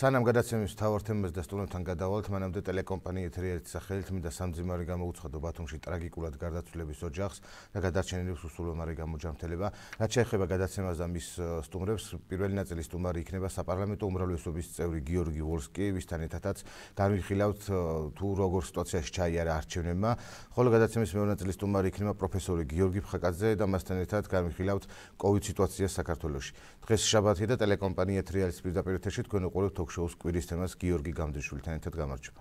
სანამ გადაცემის მთავარ თემას და სტუმრებთან გადავალთ, მანამდე ტელეკომპანია ეთერიის სახელით მინდა სამძიმარი გამოუცხადო ბათუმში ტრაგიკულად გარდაცვლილების ოჯახს და გადარჩენილებს უსულომარი გამოჯანმრთელება. რაც შეეხება გადაცემას და მის სტუმრებს, პირველი ნაწილის სტუმარი იქნება საპარლამენტო უმრავლესობის წევრი გიორგი ვოლსკი, ვისთან ერთადაც განვიხილავთ თუ როგორ სიტუაციაში ჩაიარა არჩევნებმა, ხოლო გადაცემის მეორე ნაწილის სტუმარი იქნება პროფესორი გიორგი ფხაკაძე და მასთან ერთად განვიხილავთ COVID სიტუაციას საქართველოში. დღეს შაბათია და ტელეკომპანია ეთერიის პირდაპირ ეთერში თქვენ უყურებთ ток-შოუს კვირის თემას გიორგი გამდიშვილთან ერთად გამარჯობა.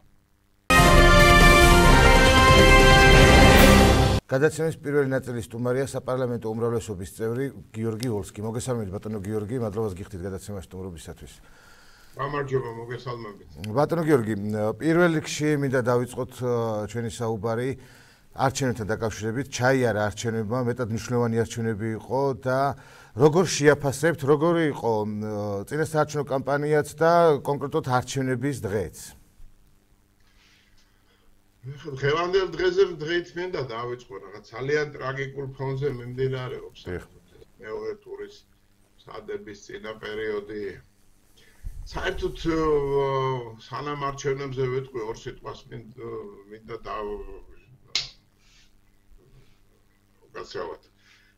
გადაცემის პირველი ნაწილის სტუმარია საპარლამენტო უმრავლესობის წევრი გიორგი ვოლსკი. მოგესალმებით ბატონო გიორგი, მადლობა გიხდით გადაცემაში სტუმრობისათვის. გამარჯობა, მოგესალმებით. ბატონო გიორგი, პირველ რიგში მინდა დავიწყოთ ჩვენი საუბარი არჩევნებთან დაკავშირებით. ჩაიარა არჩევნებმა, მეტად მნიშვნელოვანი არჩევნები იყო და როგორ შეაფასებთ, როგორი იყო წინასაარჩევნო კამპანიაც და კონკრეტულად არჩევნების დღეც? დღევანდელ დღეზე დღით მინდა დავიწყო რაღაც ძალიან ტრაგიკულ ფონზე მიმდინარეობს მეორე ტურის სადების წინა პერიოდი. საერთოდ სანამ არჩევნებზე ვიტყვი ორ სიტყვას მინდა გასავათ.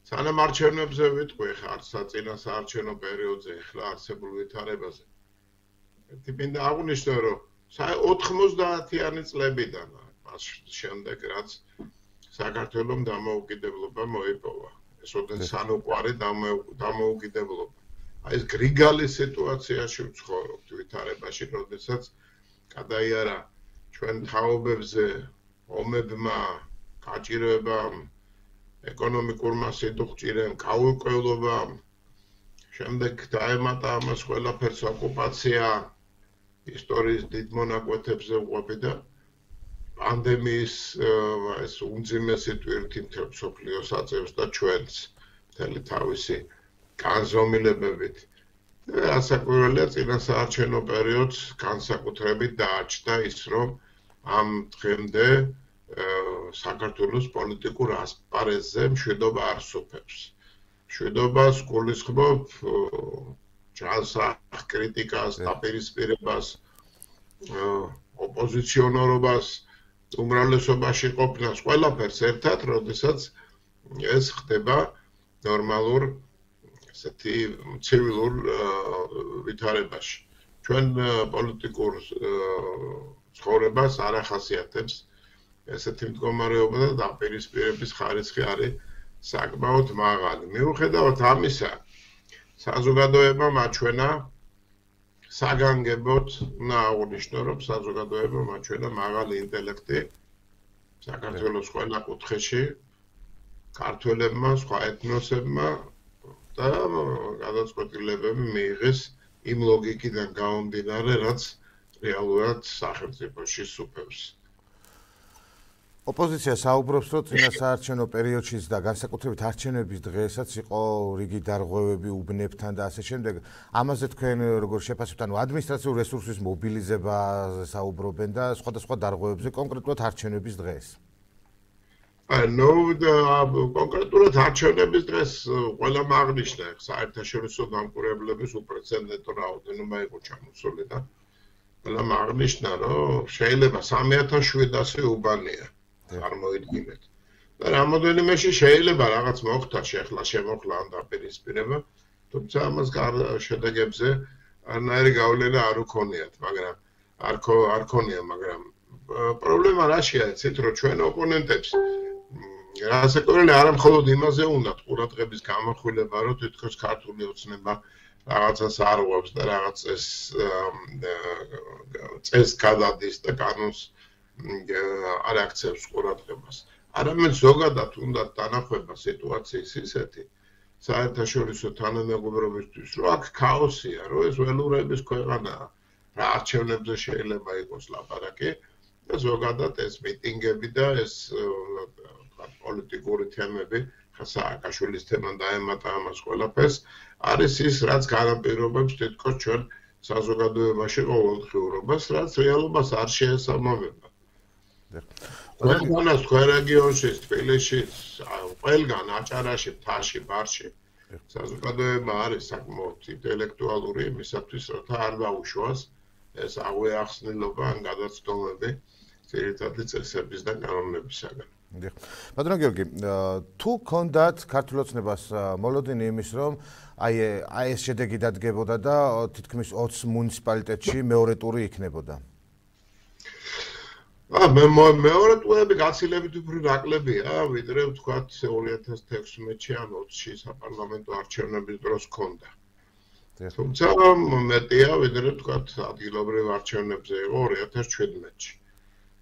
სანამ არჩევნებზე ვიტყვი ხარ საწინასაარჩევნო პერიოდზე ახლა არსებულ ვითარებაზე. მინდა აღვნიშნო, რომ 90-იანი წლებიდან მას შემდეგ რაც საქართველოს დამოუკიდებლობა მოიპოვა. ეს ოდენ სანუკვარი დამოუკიდებლობა. აი ეს გრიგალის სიტუაციაში ვცხოვრობთ ვითარებაში, როდესაც გადაიარა ჩვენ თაობებზე ომებმა, გაჭირვებამ, ეკონომიკურმა სიდუხჭირემ, გაურკვევლობამ, შემდეგ დაემატა ამას ყველაფერს ოკუპაცია, ისტორიის დიდ მონაკვეთებზე ვყოფი და პანდემიის ეს უმძიმესი ტვირთი მთელ მსოფლიოს აწევს და ჩვენც მთელი თავისი განზომილებებით. ასაკვირველია წინასაარჩევნო პერიოდს განსაკუთრებით დააჩნდა ის, რომ ამ დღემდე საქართველოს პოლიტიკურ ასპარეზზე მშვიდობა არ სუფევს. მშვიდობას გულისხმობ ჯანსაღ კრიტიკას, დაპირისპირებას, ოპოზიციონერობას, უმრავლესობაში ყოფნას, ყველაფერს ერთად, როდესაც ეს ხდება ნორმალურ ესეთი ცივილურ ვითარებაში. ჩვენ პოლიტიკურ ცხოვრებას არ ახასიათებს ესეთი მდგომარეობა და დაპირისპირების ხარისხი არის საკმაოდ მაღალი. მიუხედავად ამისა, საზოგადოებამ აჩვენა საგანგებოდ, უნდა აღვნიშნო, რომ საზოგადოებამ აჩვენა მაღალი ინტელექტი საქართველოს ყველა კუთხეში, ქართველებმა, სხვა ეთნოსებმა და გადაწყვეტილებები მიიღეს იმ ლოგიკიდან გამომდინარე, რაც რეალურად სახელმწიფოში სუფევს. ოპოზიცია საუბრობს, რომ წინასაარჩევნო პერიოდშიც და განსაკუთრებით არჩევნების დღესაც იყო რიგი დარღვევები უბნებთან და ასე შემდეგ. ამაზე თქვენ როგორ შეფასებთ, ანუ ადმინისტრაციულ რესურსის მობილიზებაზე საუბრობენ და სხვადასხვა დარღვევებზე კონკრეტულად არჩევნების დღეს? კონკრეტულად არჩევნების დღეს ყველამ აღნიშნა საერთაშორისო დამკვირვებლების უპრეცედენტო რაოდენობა იყო ჩამოსული და ყველამ აღნიშნა, რომ შეიძლება 3700 უბანია. წარმოიდგინეთ. და რამოდენიმეში შეიძლება რაღაც მოხდა შემოხლა ამ დაპირისპირება, თუმცა ამას შედეგებზე არნაირი გავლენა არ უქონიათ, მაგრამ არ ქონია, მაგრამ პრობლემა რაშია, იცით, რომ ჩვენ ოპონენტებს რასაკვირველი არა მხოლოდ იმაზე უნდათ ყურადღების გამახვილება, რომ თითქოს ქართული ოცნება რაღაცას არ უღებს და რაღაც წესს გადადის და კანონს არ აქცევს ყურადღებას. არამედ ზოგადად უნდათ დანახება სიტუაციის ისეთი საერთაშორისო თანამეგობრობისთვის, რომ აქ ქაოსია, რომ ეს ველურების ქვეყანაა, რა არჩევნებზე შეიძლება იყოს ლაპარაკი და ზოგადად ეს მიტინგები და ეს პოლიტიკური თემები, სააკაშვილის თემა დაემატა ამას ყველაფერს, არის ის, რაც განაპირობებს თითქოს ჩვენ საზოგადოებაში ყოველდღიურობას, რაც რეალობას არ შეესაბამება. ყველგანაც თქვენ რეგიონში, თბილისში, ყველგან აჭარაში, მთაში, ბარში საზოგადოება არის საკმაოდ ინტელექტუალური იმისათვის, რომ არ დაუშვას ეს აღვახსნილობა ან გადაცდომები ძირითადი წესების და კანონებისაგან. ბატონო გიორგი, თუ გქონდათ ქართულ ოცნებას მოლოდინი იმის, რომ აი ეს შედეგი დადგებოდა და თითქმის 20 მუნიციპალიტეტში მეორე ტური იქნებოდა. მეორე ტურები გაცილებით უფრო ნაკლებია, ვიდრე ვთქვათ 2016-ში ან 20-ში საპარლამენტო არჩევნების დროს ჰქონდა. თუმცა მეტია, ვიდრე ვთქვათ ადგილობრივ არჩევნებზე იყო 2017-ში.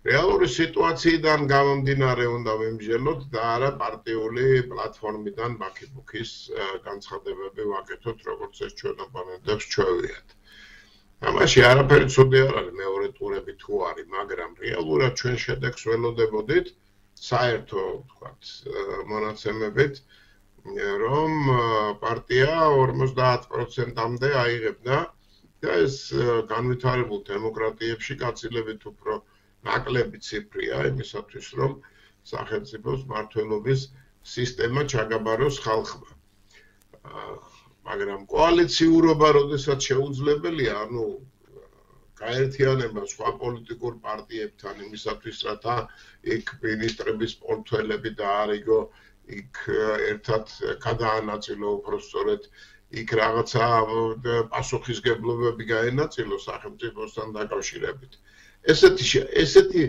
რეალური სიტუაციიდან გამომდინარე უნდა ვიმსჯელოთ და არა პარტიული პლატფორმიდან ბაქიბუქის განცხადებები ვაკეთოთ, როგორც ეს ჩვენ ოპონენტებს ჩვევიათ. ამაში არაფერი ცუდი არ არის მეორე ტურები თუ არის, მაგრამ რეალურად ჩვენ შედეგს ველოდებოდით საერთო, ვთქვათ, მონაცემებით, რომ პარტია 50%-მდე აიღებდა და ეს განვითარებულ დემოკრატიებში გაცილებით უფრო ნაკლები ციფრია იმისათვის, რომ სახელმწიფოს მმართველობის სისტემა ჩაგაბაროს ხალხმა. მაგრამ კოალიციურობა, როდესაც შეუძლებელია, ანუ გაერთიანება სხვა პოლიტიკურ პარტიებთან იმისათვის, რათა იქ მინისტრების პორტფელები დაარიგო, იქ ერთად გადაანაწილო უბრალოდ იქ რაღაცა პასუხისგებლობები გაენაწილო სახელმწიფოსთან დაკავშირებით. ესეთი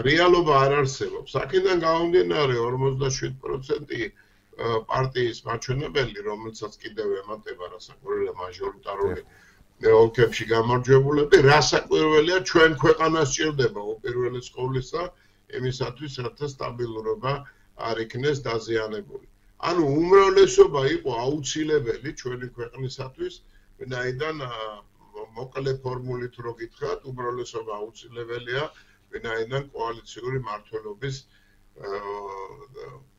რეალობა არ არსებობს. აქედან გამომდინარე 47% პარტიის მაჩვენებელი, რომელსაც კიდევ ემატება რასაკვირველია მაჟორიტარული ოლქებში გამარჯვებულები, რასაკვირველია ჩვენ ქვეყანას სჭირდება უპირველეს ყოვლისა იმისათვის, რათა სტაბილურობა არ იქნეს დაზიანებული. ანუ უმრავლესობა იყო აუცილებელი ჩვენი ქვეყნისათვის, ვინაიდან მოკლე ფორმულით რო გითხრათ, უმრავლესობა აუცილებელია, ვინაიდან კოალიციური მმართველობის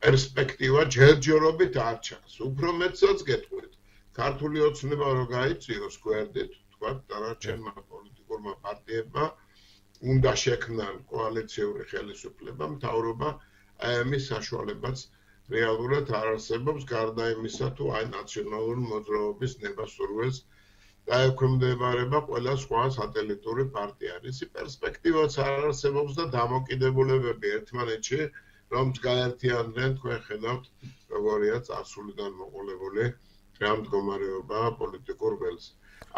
პერსპექტივა ჯერჯერობით არ ჩანს. უფრო მეტსაც გეტყვით, ქართული ოცნება რო გაიწვიოს გვერდით, თქვათ, დანარჩენმა პოლიტიკურმა პარტიებმა უნდა შექმნან კოალიციური ხელისუფლება, მთავრობა აი ამის საშუალებაც რეალურად არ არსებობს, გარდა იმისა, თუ აი ნაციონალური მოძრაობის ნებასურველს დაექვემდებარება ყველა სხვა სატელიტური პარტია. ისი პერსპექტივაც არ არსებობს და დამოკიდებულებები ერთმანეთში, რომ გაერთიანდნენ, თქვენ ხედავთ, როგორია წარსულიდან მოყოლებული რა მდგომარეობა პოლიტიკურ ველზე.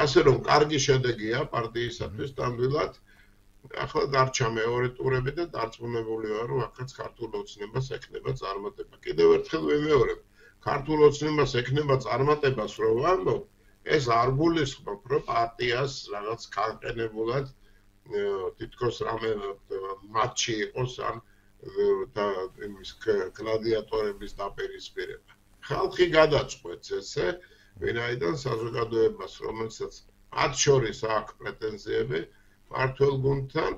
ასე რომ, კარგი შედეგია პარტიისათვის ნამდვილად. ახლა დარჩა მეორე ტურები და დარწმუნებული ვარ, რომ აქაც ქართულ ოცნებას ექნება წარმატება. კიდევ ერთხელ ვიმეორებ, ქართულ ოცნებას ექნება წარმატებას რო ვამბობ, ეს არ გულისხმობ, რომ პარტიას რაღაც განყენებულად თითქოს რამე მატჩი იყოს ან და იმის გლადიატორების დაპირისპირება. ხალხი გადაწყვეტს ესე, ვინაიდან საზოგადოებას, რომელსაც მათ შორის აქვს პრეტენზიები მმართველ გუნდთან,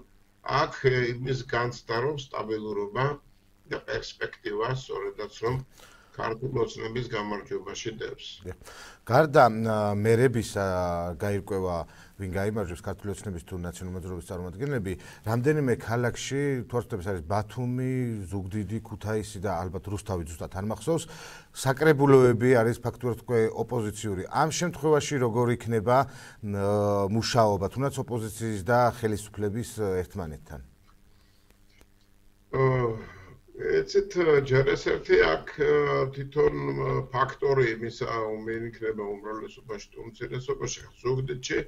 აქ იმის განცდა, რომ სტაბილურობა და პერსპექტივა სწორედაც რომ ქართულ ოცნების გამარჯვებაში დევს. გარდა მერებისა გაირკვევა ვინ გაიმარჯვებს ქართული ოცნების თუ ნაციონალური მოძრაობის წარმომადგენლები, რამდენიმე ქალაქში თორსტების არის ბათუმი, ზუგდიდი, ქუთაისი და ალბათ რუსთავი ზუსტად არ მახსოვს, საკრებულოები არის ფაქტურად უკვე ოპოზიციური. ამ შემთხვევაში როგორ იქნება მუშაობა, თუნდაც ოპოზიციის და ხელისუფლების ერთმანეთთან? ეცეთ ჯერესერთი აქ თვითონ ფაქტორი იმისა უმეიქნება უმრავლესობაში თუ უმცირესობაში ზუგდიდში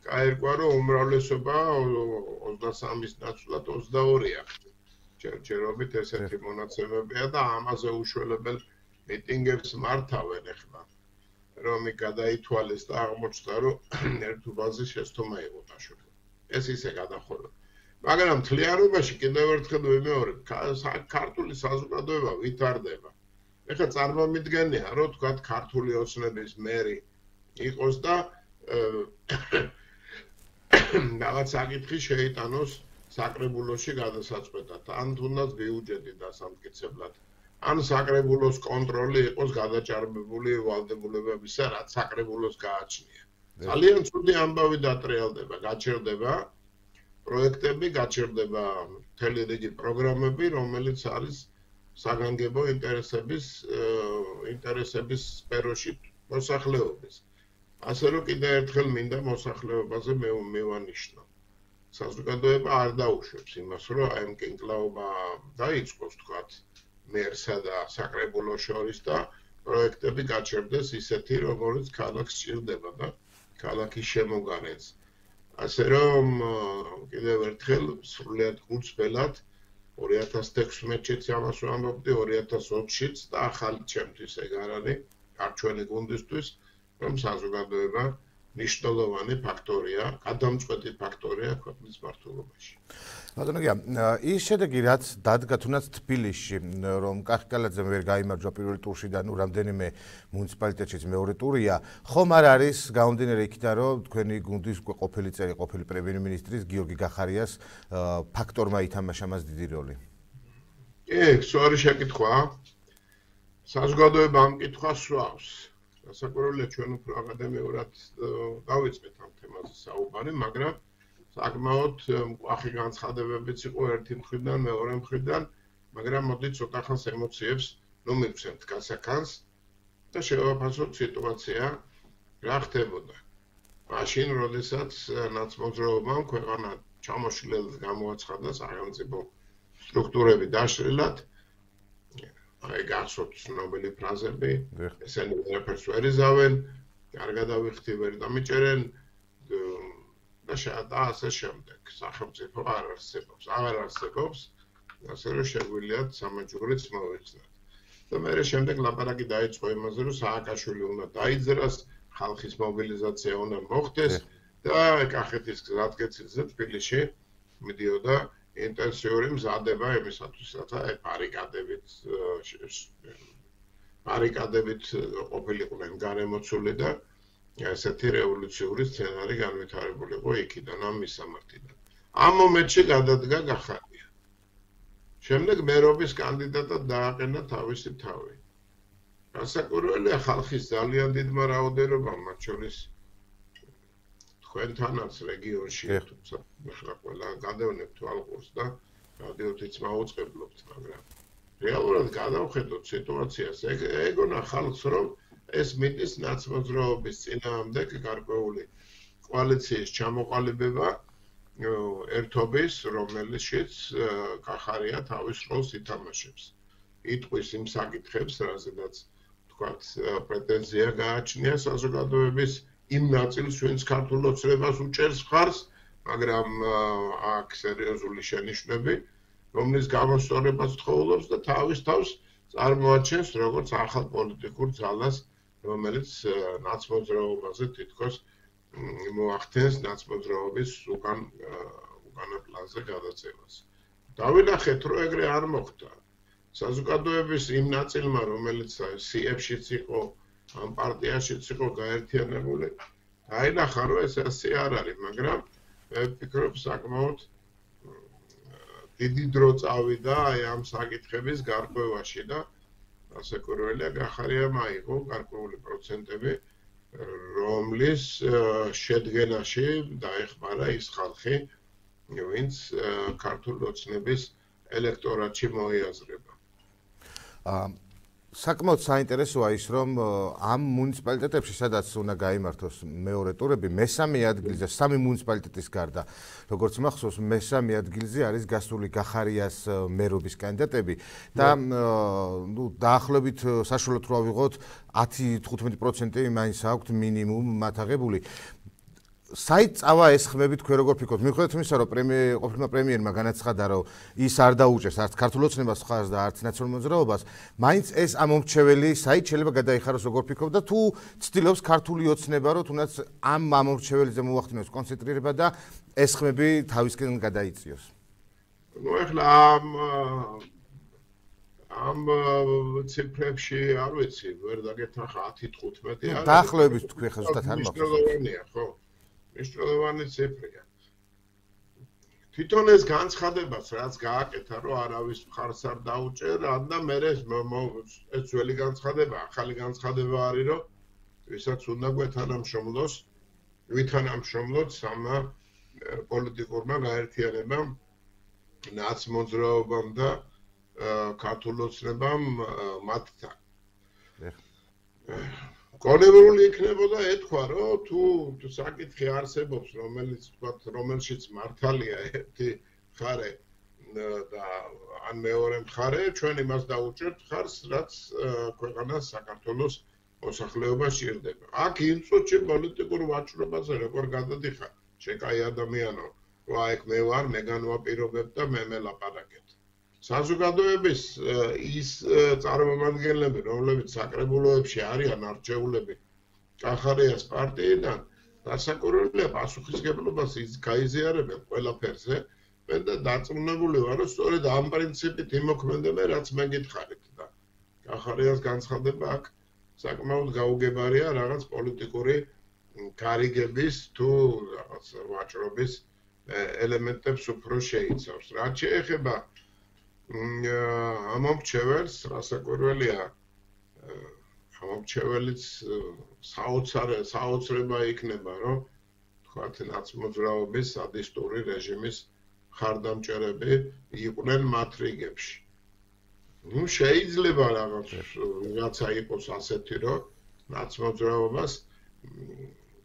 გაირკვა რომ უმრავლესობა 23-ის ნაცვლად 22-ია. ჯერჯერობით ესეთი მონაცემებია და ამაზე უშველებელ მიტინგებს მართავენ ახლა. რომ იქ გადაითვალეს და აღმოჩნდა რომ ერთუბანზე შეცდომა იყო დაშორება. ეს ისე გადახურვა. მაგრამ თლიანობაში კიდევ ერთხელ ვიმეორებ, ქართული საზოგადოება ვითარდება. ეხლა წარმომიდგენია, რომ თქვათ ქართული ოცნების მერი იყოს და რაღაც საკითხი შეიტანოს საკრებულოში გადასაწყვეტად, ან თუნდაც ბიუჯეტი დასამტკიცებლად, ან საკრებულოს კონტროლი იყოს გადაჭარბებული ვალდებულებებისა, რაც საკრებულოს გააჩნია. ძალიან ცუდი ამბავი დატრიალდება, გაჩერდება პროექტები, გაჩერდება მთელი რიგი პროგრამები, რომელიც არის საგანგებო ინტერესების სფეროში მოსახლეობის. ასე რომ კიდევ ერთხელ მინდა მოსახლეობაზე მევანიშნო. საზოგადოება არ დაუშვებს იმას, რომ აი მკინკლაობა დაიწყოს თქვათ მერსა და საკრებულოს შორის და პროექტები გაჩერდეს ისეთი, როგორც ქალაქს სჭირდება და ქალაქის შემოგარენს. ასე რომ კიდევ ერთხელ სრულიად გულწრფელად 2016-ში ამას ვამბობდი, 2020-შიც და ახალი ჩემთვის ეგ არ არის, არჩევანი გუნდისთვის, რომ საზოგადოება მნიშვნელოვანი ფაქტორია, გადამწყვეტი ფაქტორია ქვეყნის მართლობაში. ბატონო გია, ის შედეგი რაც დადგა თუნდაც თბილისში, რომ კახიკალაძემ ვერ გაიმარჯვა პირველ ტურში და რამდენიმე მუნიციპალიტეტშიც მეორე ტურია, ხომ არ არის გამომდინარე იქიდან, რომ თქვენი გუნდის ყოფილი წევრი, ყოფილი პრემიერ-მინისტრის გიორგი გახარიას ფაქტორმა ითამაშა მას დიდი როლი? კი, სწორი შეკითხვაა. საზოგადოება ამ კითხვას სვავს. Სასაკურველია ჩვენ უფრო აკადემიურად დავიწყეთ ამ თემაზე საუბარი, მაგრამ საკმაოდ მკვახი განცხადებებიც იყო ერთი მხრიდან, მეორე მხრიდან, მაგრამ მოდი ცოტა ხანს ემოციებს მივცემთ გასახანს და შევაფასოთ სიტუაცია რა ხდებოდა. მაშინ, როდესაც ნაცმოძრაობამ ქვეყანა ჩამოშლილად გამოაცხადა სახელმწიფო სტრუქტურები დაშლილად, აი გახსოვთ ცნობილი ფრაზები, ესენი ვერაფერს ვერ იზავენ, კარგად ავიხდი ვერ დამიჭერენ და ასე შემდეგ. სახელმწიფო არ არსებობს, ასე რომ შეგვიძლიათ სამაჯურიც მოვიხსნათ. და მერე შემდეგ ლაპარაკი დაიწყო იმაზე, რომ სააკაშვილი უნდა დაიძრას, ხალხის მობილიზაცია უნდა მოხდეს და კახეთის გზატკეცილზე თბილისში მიდიოდა ინტენსიური მზადება იმისათვის, რათა ბარიკადებით ყოფილიყვნენ გარემოცული და ესეთი რევოლუციური სცენარი განვითარებულიყო იქიდან ამ მისამართიდან. ამ მომენტში გადადგა გახარია. შემდეგ მერობის კანდიდატად დააყენა თავისი თავი. განსაკუთრებულად ხალხის ძალიან დიდმა რაოდენობამ, მათ შორის თქვენთანაც რეგიონში, თუმცა ახლა ყველა გადავნებთ თვალყურს და რადიოთიც მაუწყებლობთ, მაგრამ რეალურად გადავხედოთ სიტუაციას, ეგონა ხალხს, რომ ეს მიდის ნაცმოძრაობის წინააღმდეგ გარკვეული კოალიციის ჩამოყალიბება ერთობის, რომელშიც გახარია თავის როლს ითამაშებს. იტყვის იმ საკითხებს, რაზედაც თქვათ პრეტენზია გააჩნია საზოგადოების იმ ნაწილს, ვინც ქართულ ოცნებას უჭერს მხარს, მაგრამ აქ სერიოზული შენიშვნები, რომლის გამოსწორებას თხოვლობს და თავის თავს წარმოაჩენს როგორც ახალ პოლიტიკურ ძალას, რომელიც ნაცმოძრაობაზე თითქოს მოახდენს ნაცმოძრაობის უკანა პლანზე გადაწევას. დავინახეთ, რომ ეგრე არ მოხდა. საზოგადოების იმ ნაწილმა, რომელიც სიებშიც იყო, ამ პარტიაშიც იყო გაერთიანებული, დაინახა, რომ ეს ასე არ არის, მაგრამ მე ვფიქრობ, საკმაოდ დიდი დრო წავიდა აი ამ საკითხების გარკვევაში და განსაკუთრებულად გახარიამ აიღო გარკვეული პროცენტები, რომლის შედგენაში დაეხმარა ის ხალხი, ვინც ქართული ოცნების ელექტორატში მოიაზრება. საკმაოდ საინტერესოა ის, რომ ამ მუნიციპალიტეტებში, სადაც უნდა გაიმართოს მეორე ტურები, მესამე ადგილზე, სამი მუნიციპალიტეტის გარდა, როგორც მახსოვს, მესამე ადგილზე არის გასული გახარიას მერობის კანდიდატები და დაახლოებით საშუალოდ რო ავიღოთ 10-15% მაინც აქვთ მინიმუმ მათ აღებული. საით წავა ეს ხმები თქვენ როგორ ფიქრობთ? მიუხედავად იმისა, რომ ყოფილმა პრემიერმა განაცხადა, რომ ის არ დაუჭერს არც ქართულ ოცნებას მხარს და არც ნაციონალურ მოძრაობას, მაინც ეს ამომრჩეველი საით შეიძლება გადაიხაროს როგორ ფიქრობთ და თუ ცდილობს ქართული ოცნება, რომ თუნდაც ამ ამომრჩეველზე მოახდინოს კონცენტრირება და ეს ხმები თავისკენ გადაიწიოს? ნუ ახლა ამ ციფრებში არ ვიცი, ვერ დაგეთახა 10-15 არის. დაახლოებით თქვენ ხა ზუსტად არ მახსოვს. მნიშვნელოვანია, ხო? მნიშვნელოვანი ციფრია. თვითონ ეს განცხადებას, რაც გააკეთა, რომ არავის მხარს არ დაუჭერა და მე ეს ძველი განცხადება, ახალი განცხადება არის, რომ ვისაც უნდა გვეთანამშრომლოს, ვითანამშრომლოთ სამა პოლიტიკურმა გაერთიანებამ, ნაცმოძრაობამ და ქართულ ოცნებამ მათთან. კონევრული იქნებოდა ეთქვა, რომ თუ საკითხი არსებობს, რომელშიც მართალია ერთი მხარე და ან მეორე მხარე, ჩვენ იმას დაუჭერთ ხარს, რაც ქვეყანას საქართველოს მოსახლეობა სჭირდება. აქ იმ წუთში პოლიტიკურ ვაჭრობაზე როგორ გადადიხარ, შეკაი ადამიანო, რომ აი მე ვარ, მე განვაპირობებ და მე მელაპარაკეთ. საზოგადოების ის წარმომადგენლები, რომლებიც საკრებულოებში არიან არჩეულები კახარიას პარტიიდან, დასაკურველია პასუხისმგებლობას გაიზიარებენ ყველაფერზე. მე და დარწმუნებული ვარ, რომ სწორედ ამ პრინციპით იმოქმედებენ, რაც მე გითხარით და კახარიას განცხადება აქ საკმაოდ გაუგებარია რაღაც პოლიტიკური გარიგების თუ რაღაც ვაჭრობის ელემენტებს უფრო შეიცავს. რაც შეეხება ამომრჩეველს, რასაკვირველია, ამომრჩეველიც საოცრება იქნება, რომ თქვათ ნაცმოძრაობის სადისტური რეჟიმის ხარდამჭერები იყვნენ მათ რიგებში. ნუ შეიძლება რაღაცა იყოს ასეთი, რომ ნაცმოძრაობას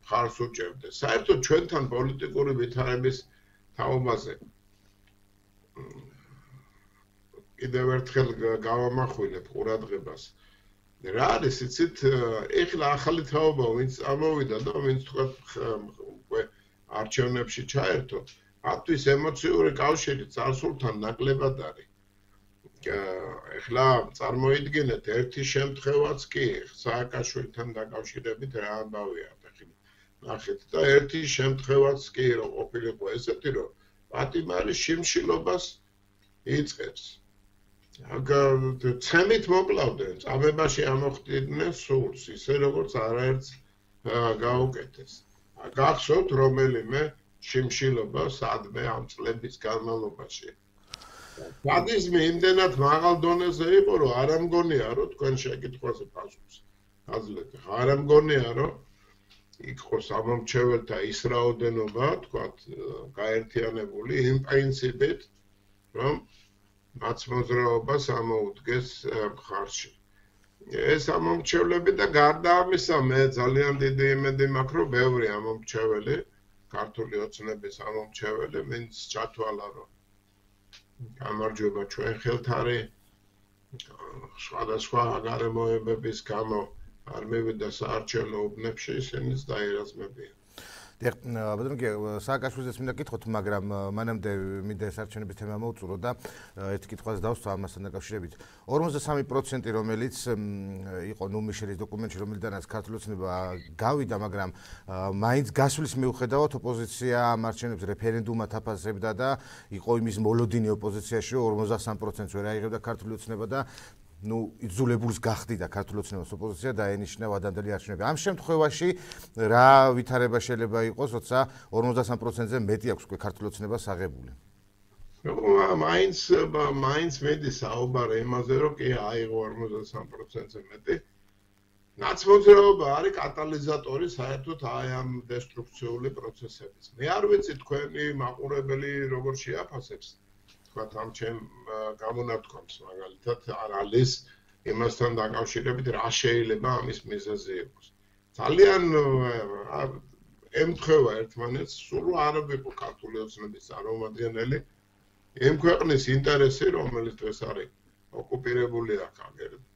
ხარს უჭერდეს. საერთოდ ჩვენთან პოლიტიკური ვითარების თაობაზე კიდევ ერთხელ გავამახვილებ ყურადღებას. რა არის იცით, ეხლა ახალი თაობა ვინც ამოვიდა და ვინც თქვათ უკვე არჩევნებში ჩაერთო, მათთვის ემოციური კავშირი წარსულთან ნაკლებად არის. ეხლა წარმოიდგინეთ ერთი შემთხვევაც კი სააკაშვილთან დაკავშირებით რა ამბავია ახლა ნახეთ და ერთი შემთხვევაც კი რომ ყოფილიყო ესეთი რომ პატიმარი შიმშილობას იწყებს. ცემით მოკლავდნენ, წამებაში ამოხდიდნენ სულს, ისე როგორც არაერთს გაუკეთეს. გახსოვთ რომელიმე შიმშილობა სადმე ამ წლების განმავლობაში. სადიზმი იმდენად მაღალ დონეზე იყო, რომ არ ამგონია, რომ თქვენ შეკითხვაზე პასუხს აძლევთ. არ ამგონია, რომ იყოს ამომრჩეველთა ის რაოდენობა, თქვათ, გაერთიანებული იმ პრინციპით, რომ ნაცმოძრაობას ამოუდგეს მხარში. ეს ამომრჩევლები და გარდა ამისა, მე ძალიან დიდი იმედი მაქვს, რომ ბევრი ამომრჩეველი, ქართული ოცნების ამომრჩეველი, ვინც ჩათვალა, რომ გამარჯვება ჩვენ ხელთ არის, სხვადასხვა გარემოებების გამო არ მივიდა საარჩევნო უბნებში, ისინიც დაერაზმებიან. ბატონო, სააკაშვილზეც მინდა გკითხოთ, მაგრამ მანამდე მინდა ეს არჩევნების თემა მოვწურო და ერთი კითხვას დავსვა ამასთან დაკავშირებით. 43%, რომელიც იყო ნუმიშერის დოკუმენტში, რომელიდანაც ქართული ოცნება გავიდა, მაგრამ მაინც გასვლის მიუხედავად ოპოზიცია ამ არჩევნებს რეფერენდუმად აფასებდა და იყო იმის მოლოდინი ოპოზიციაში, რომ 53%-ს ვერ აიღებდა ქართული ოცნება და იძულებულს გახდიდა ქართული ოცნების ოპოზიცია დაენიშნა ვადანდელი არჩევნები. ამ შემთხვევაში რა ვითარება შეიძლება იყოს, როცა 53%-ზე მეტი აქვს უკვე ქართული ოცნებას აღებული? მაინც მედი საუბარი იმაზე, რომ კი აიღო 53%-ზე მეტი. ნაცმოძრაობა არის კატალიზატორი საერთოდ აი ამ დესტრუქციული პროცესების. მე არ ვიცი თქვენი მაყურებელი როგორ შეაფასებს თქვათ ამ ჩემ გამონათქვამს მაგალითად არალის იმასთან დაკავშირებით რა შეიძლება ამის მიზეზი იყოს. ძალიან ემთხვევა ერთმანეთს, სულ არ ვიყო ქართული ოცნების წარმომადგენელი იმ ქვეყნის ინტერესი, რომელიც დღეს არის ოკუპირებული აქ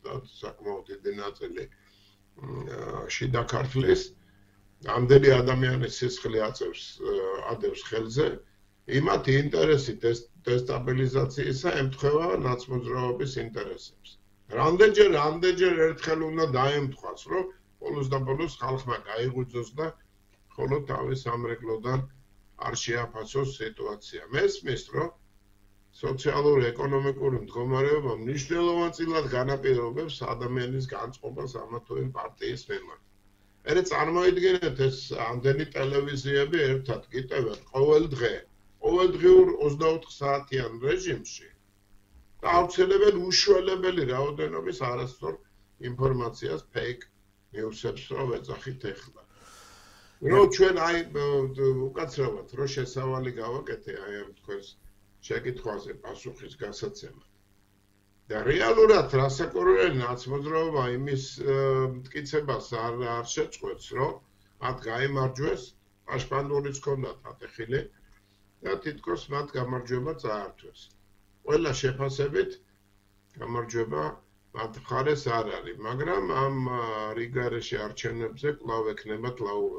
და საკმაოდ დიდი ნაწილი შიდა ქართლის, ამდენი ადამიანის სისხლი ადევს ხელზე, იმათ ინტერესი დესტაბილიზაციისა ემთხვევა ნაცმოძრაობის ინტერესებს. რამდენჯერ ერთხელ უნდა დაემთხვას, რომ ბოლოს და ბოლოს ხალხმა გაიღვიძოს და ხოლო თავის სამრეკლოდან არ შეაფასოს სიტუაცია. მესმის, რომ სოციალური ეკონომიკური მდგომარეობა მნიშვნელოვანწილად განაპირობებს ადამიანის განწყობას ამა თუ იმ პარტიის მიმართ. ერე წარმოიდგინეთ ეს ამდენი ტელევიზიები ერთად გიტევენ ყოველდღიურ 24 საათიან რეჟიმში და აუცილებენ უშველებელი რაოდენობის არასწორ ინფორმაციას, ფეიქ ნიუსებს რომ ეძახით ეხლა. რომ ჩვენ აი უკაცრავად რო შესავალი გავაკეთე აი ამ თქვენს შეკითხვაზე პასუხის გასაცემად. და რეალურად რასაკურველი ნაცმოძრაობა იმის მტკიცებას არ შეწყვეტს, რომ მათ გაიმარჯვეს, პაშპანდურიც ჰქონდათ ატეხილი და თითქოს მათ გამარჯვება წაართვეს. ყველა შეფასებით გამარჯვება მათ მხარეს არ არის, მაგრამ ამ რიგარეში არჩევნებზე კვლავ ექნებათ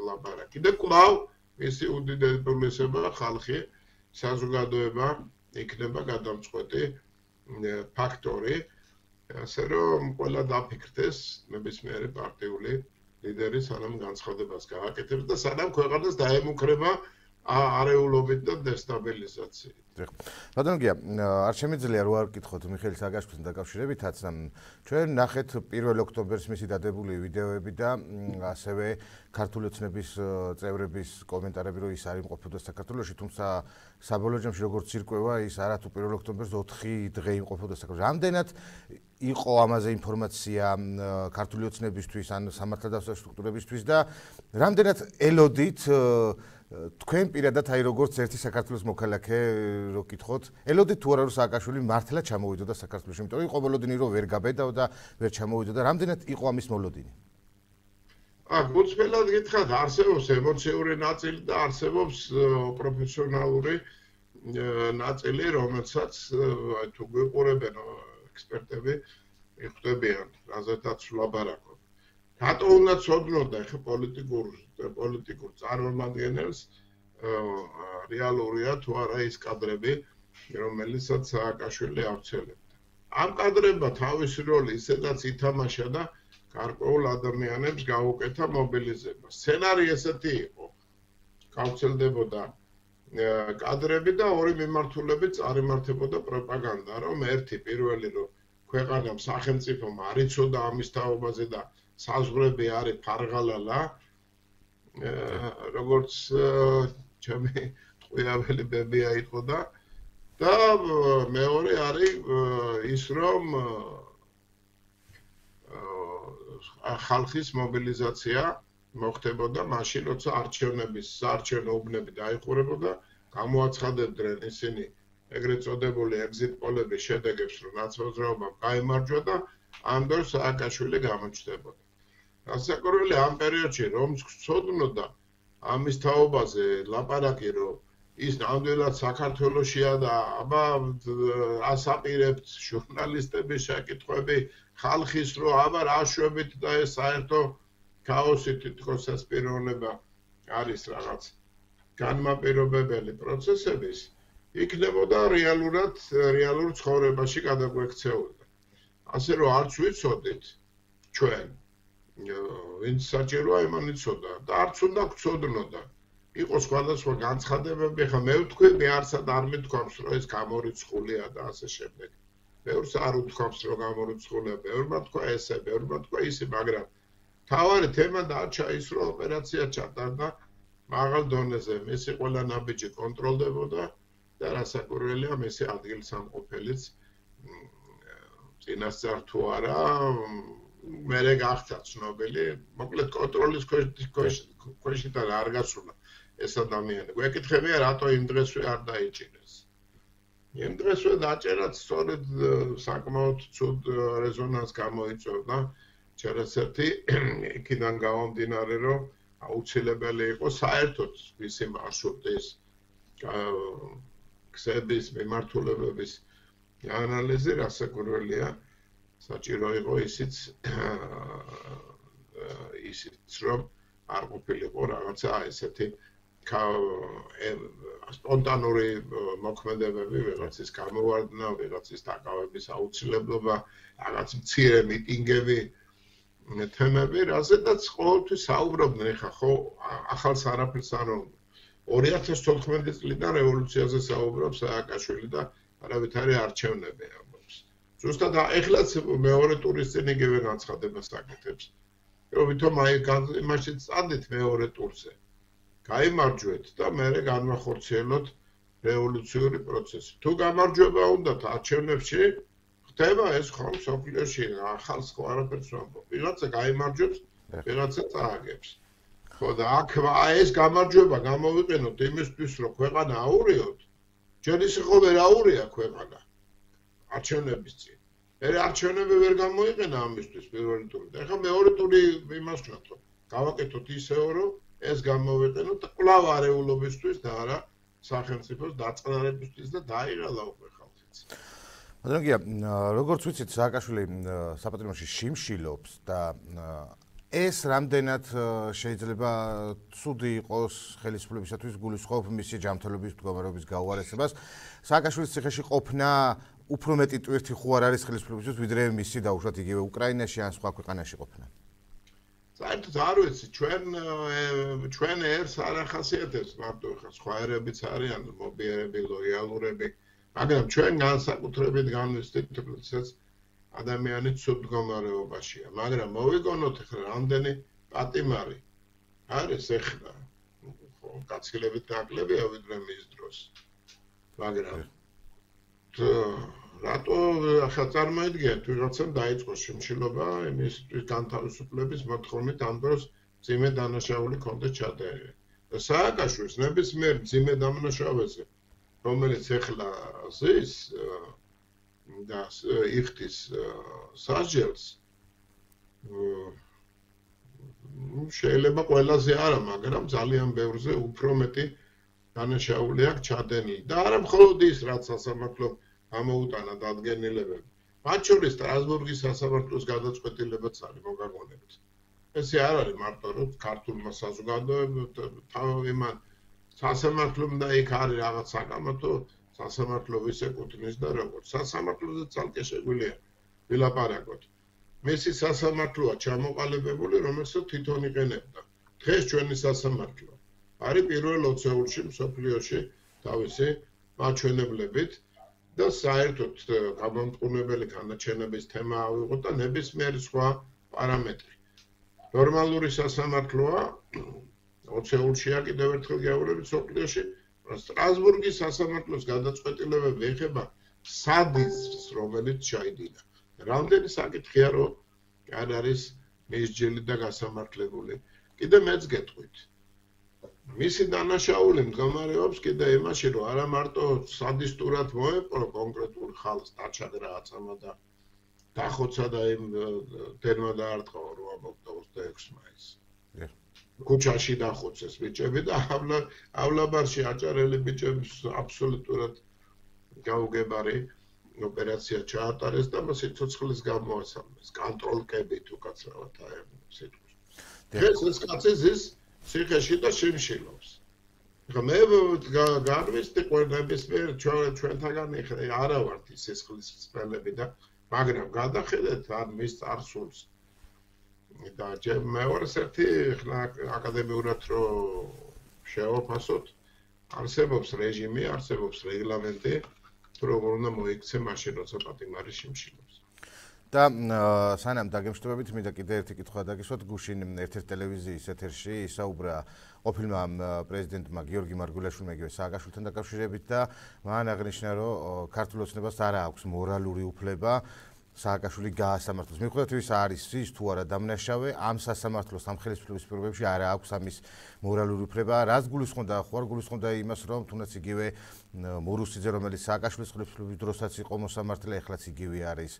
ლაპარაკი და კვლავ მისი უდიდებულესობა ხალხი, საზოგადოება იქნება გადამწყვეტი ფაქტორი, ასე რომ ყველა დაფიქრდეს ნებისმიერი პარტიული ლიდერი სანამ განცხადებას გააკეთებს და სანამ ქვეყანას დაემუქრება არეულობით და დესტაბილიზაციით. ბატონო გია, არ შემიძლია რო არ ვკითხოთ მიხეილ სააკაშვილთან დაკავშირებითაც, ჩვენ ნახეთ 1 ოქტომბერს მისი დადებული ვიდეოები და ასევე ქართული ოცნების წევრების კომენტარები, რომ ის არ იმყოფებოდა საქართველოში, თუმცა საბოლოო ჯამში როგორც ირკვევა, ის არათუ 1 ოქტომბერს 4 დღე იმყოფებოდა საქართველოში. რამდენად იყო ამაზე ინფორმაცია ქართული ოცნებისთვის ან სამართალდაცვო სტრუქტურებისთვის და რამდენად ელოდით თქვენ პირადად აი როგორც ერთი საქართველოს მოქალაქე რო კითხოთ, ელოდით თუ არა რომ სააკაშვილი მართლა ჩამოვიდოდა საქართველოში, იმიტომ რომ იყო მოლოდინი რომ ვერ გაბედაო და ვერ ჩამოვიდოდა, რამდენად იყო ამის მოლოდინი? გულწრფელად გითხრათ, არსებობს ემოციური ნაწილი და არსებობს პროფესიონალური ნაწილი, რომელსაც თუ გვიყურებენ ექსპერტები, მიხვდებიან, რაზეც ვლაპარაკობ. რატო უნდა ცოდნოდა ხე პოლიტიკურ წარმომადგენელს რეალურია თუ არა ის კადრები, რომელიცაც სააკაშვილი ავრცელებდა. ამ კადრებმა თავისი როლი ისედაც ითამაშა და გარკვეულ ადამიანებს გაუკეთა მობილიზება. სცენარი ესეთი იყო. გავრცელდებოდა კადრები და ორი მიმართულებით წარიმართებოდა პროპაგანდა, რომ ერთი პირველი რომ ქვეყანამ სახელმწიფომ არ იცოდა ამის თაობაზე და საზღვრები არის ფარღალალა, როგორც ჩემი ტყუიაველი ბებია იყო და მეორე არის ის რომ ხალხის მობილიზაცია მოხდებოდა მაშინ, როცა საარჩევნო უბნები დაიხურებოდა, გამოაცხადებდნენ ისინი ეგრეთ წოდებული ეგზიტ პოლების შედეგებს, რომ ნაცმოძრაობამ გაიმარჯვა და ამ დროს სააკაშვილი გამოჩნდებოდა. რასაკურველი ამ პერიოდში რომს გწოდნოდა ამის თაობაზე ლაპარაკი, რომ ის ნამდვილად საქართველოშია და აბა ასაპირებთ ჟურნალისტების შეკითხვები ხალხის რომ აბა რა შვებით და ეს საერთო ქაოსი თითქოს ეს პიროვნება არის რაღაც განმაპირობებელი პროცესების იქნებოდა რეალურ ცხოვრებაში გადაგვექცეულდა. ასე რომ არც ვიცოდით ჩვენ ვინც საჭიროა იმან იცოდა და არც უნდა გწოდნოდა. იყო სხვადასხვა განცხადებები, ხა მე ვთქვი, მე არცად არ მithქვამს, რომ ეს გამორიცხულია და ასე შემდეგ. ბევრს არ უთქვამს, რომ გამორიცხულია, ბევრმა თქვა ესე, ბევრმა თქვა ისე, მაგრამ თავარი თემა დარჩა ის, რომ ოპერაცია ჩატარდა მაღალ დონეზე, მისი ყველა ნაბიჯი კონტროლდებოდა და რასაკურველია მისი ადგილსამყოფელიც წინასწარ თუ არა მერე გახდა ცნობილი, მოკლედ კონტროლის ქვეშიდან არ გასულა ეს ადამიანი. გვეკითხებია, რატო იმ დღესვე არ დაიჭირეს. იმ დღესვე დაჭერაც სწორედ საკმაოდ ცუდ რეზონანსს გამოიწვევდა. ჩერესერთი იქიდან გამომდინარე, რომ აუცილებელი იყო საერთოდ მისი მარშრუტის გზების მიმართულებების ანალიზი, რასაკურველია საჭირო იყო ისიც რომ არ ყოფილიყო რაღაცა ესეთი სპონტანური მოქმედებები, ვიღაცის გამოვარდნა, ვიღაცის დაკავების აუცილებლობა, რაღაც მცირე მიტინგები, თემები, რაზედაც ყოველთვის საუბრობდნენ, ეხა ხო ახალს არაფერს არ უნდა. 2014 წლიდან რევოლუციაზე საუბრობს სააკაშვილი და არავითარი არჩევნები ამბობს. ზუსტად ეხლაც მეორე ტურის წინ იგივე განცხადებას აკეთებს. რომ ვითომ აი იმაში წადით მეორე ტურზე. გაიმარჯვეთ და მერე განვახორციელოთ რევოლუციური პროცესი. თუ გამარჯვება უნდათ არჩევნებში, ხდება ეს ხომ სოფლიოში ახალს ხო არაფერს ვამბობ. ვიღაცა გაიმარჯვებს, ვიღაცა წააგებს. ხო და აქ ეს გამარჯვება გამოვიყენოთ იმისთვის, რომ ქვეყანა აურიოთ. ჯერ ისე ხო ვერ აურია ქვეყანა არჩევნების წინ. მე არჩევნები ვერ გამოიყენა ამისთვის პირველი ტური. და ეხლა მეორე ტური იმას ვთქვათ, გავაკეთოთ ისეო, რომ ეს გამოვიყენოთ კვლავ არეულობისთვის და არა სახელმწიფოს დაწყნარებისთვის და დაიღალა უკვე ხალხიც. ბატონო, როგორც ვიცით, სააკაშვილი საპატრიარქოში შიმშილობს და ეს რამდენად შეიძლება ცუდი იყოს ხელისუფლებისათვის გულისხმობ მისი ჯანმრთელობის მდგომარეობის გაუარესებას. სააკაშვილის ციხეში ყოფნა უფრო მეტი ტვირთი ხო არ არის ხელისუფლებისთვის, ვიდრე მისი დაუშვათ იგივე უკრაინაში ან სხვა ქვეყანაში ყოფნა. საერთოდ არ ვიცი, ჩვენ ერთს არ ახასიათებს მარტო ხა სხვა ერებიც არიან მობიერები, ლოიალურები, მაგრამ ჩვენ განსაკუთრებით განვიცდით, თუმცა ადამიანი ცუდ მდგომარეობაშია, მაგრამ მოვიგონოთ ახლა რამდენი პატიმარი არის ახლა ხო კაცილებით დაკლებია ვიდრე მის დროს. მაგრამ რატო ახლა წარმოიდგინეთ ვიღაცამ დაიწყო შიმშილობა იმის განთავისუფლების მოთხოვნით ამ დროს ძიმე დანაშაული კონდეს ჩადენილი. და სააკაშვილის ნებისმიერ ძიმე დანაშაულზე რომელიც ახლა ზის და იხდის სასჯელს შეიძლება ყველაზე არა, მაგრამ ძალიან ბევრზე უფრო მეტი დანაშაული აქვს ჩადენილი. და არა მხოლოდ ის, რაც სასამართლომ ამოუტანა დადგენილებები. მათ შორის სტრასბურგის სასამართლოს გადაწყვეტილებაც არის მოგაგონებთ. ესე არ არის მარტო რომ ქართულმა საზოგადოებამ იმან სასამართლომ და იქ არის რაღაც საკამათო სასამართლო ვის ეკუთვნის და როგორც სასამართლოზე ცალკე შეგვიძლია ვილაპარაკოთ. მისი სასამართლოა ჩამოყალიბებული, რომელსაც თვითონ იყენებდა. დღეს ჩვენი სასამართლო არის პირველ 20-ში მსოფლიოში თავისი მაჩვენებლებით და საერთოდ გამომწყურებელი განაჩენების თემა ავიღოთ და ნებისმიერი სხვა პარამეტრი. ნორმალური სასამართლოა 20-შია კიდევ ერთხელ გეუბნებით მსოფლიოში სტრასბურგის სასამართლოს გადაწყვეტილებები ეხება სადიზმს, რომელიც ჩაიდინა. რამდენი საკითხია, რომ არ არის მისჯილი და გასამართლებული. კიდე მეც გეტყვით. მისი დანაშაული მდგომარეობს კიდე იმაში, რომ არა მარტო სადისტურად მოეპყრო კონკრეტულ ხალხს, დაჩადა რაღაცამა და დახოცა და იმ დენმა დაარტყა 26 მაისს. ქუჩაში დახოცეს ბიჭები და ავლაბარში აჭარელი ბიჭების აბსოლუტურად გაუგებარი ოპერაცია ჩაატარეს და მას სიცოცხლის გამოასალმეს კონტროლკებით უკაცრავად სიტყვის. დღეს ეს კაცი ზის ციხეში და შიმშილობს. მე განვიცდი ყველნებისმიერ ჩვენთაგან არა ვართ ის სისხლის სპელები და მაგრამ გადახედეთ არ მის წარსულს. და მეორე ერთი ხნა აკადემიურად რომ შევაფასოთ, არსებობს რეჟიმი, არსებობს რეგლამენტი, როგორ უნდა მოიქცე მაშინ, როცა პატიმარი შიმშილობს. და სანამ დაგემშვიდობებით, მინდა კიდე ერთი კითხვა დაგისვათ. გუშინ ერთ-ერთ ტელევიზიის ეთერში ისაუბრა ყოფილმა პრეზიდენტმა გიორგი მარგველაშვილმა იგივე სააკაშვილთან დაკავშირებით და მან აღნიშნა, რომ ქართულ ოცნებას არ აქვს მორალური უფლება სააკაშვილი გაასამართლოს. მიუხედავად იმისა, არის ის თუ არა დამნაშავე, ამ სასამართლოს ამ ხელისუფლების პირობებში არ აქვს ამის მორალური უფლება. რაც გულისხმობდა, ხო არ გულისხმობდა იმას, რომ თუნდაც იგივე მურუსიძე, რომელიც სააკაშვილის ხელისუფლების დროსაც იყო მოსამართლე, ეხლაც იგივე არის.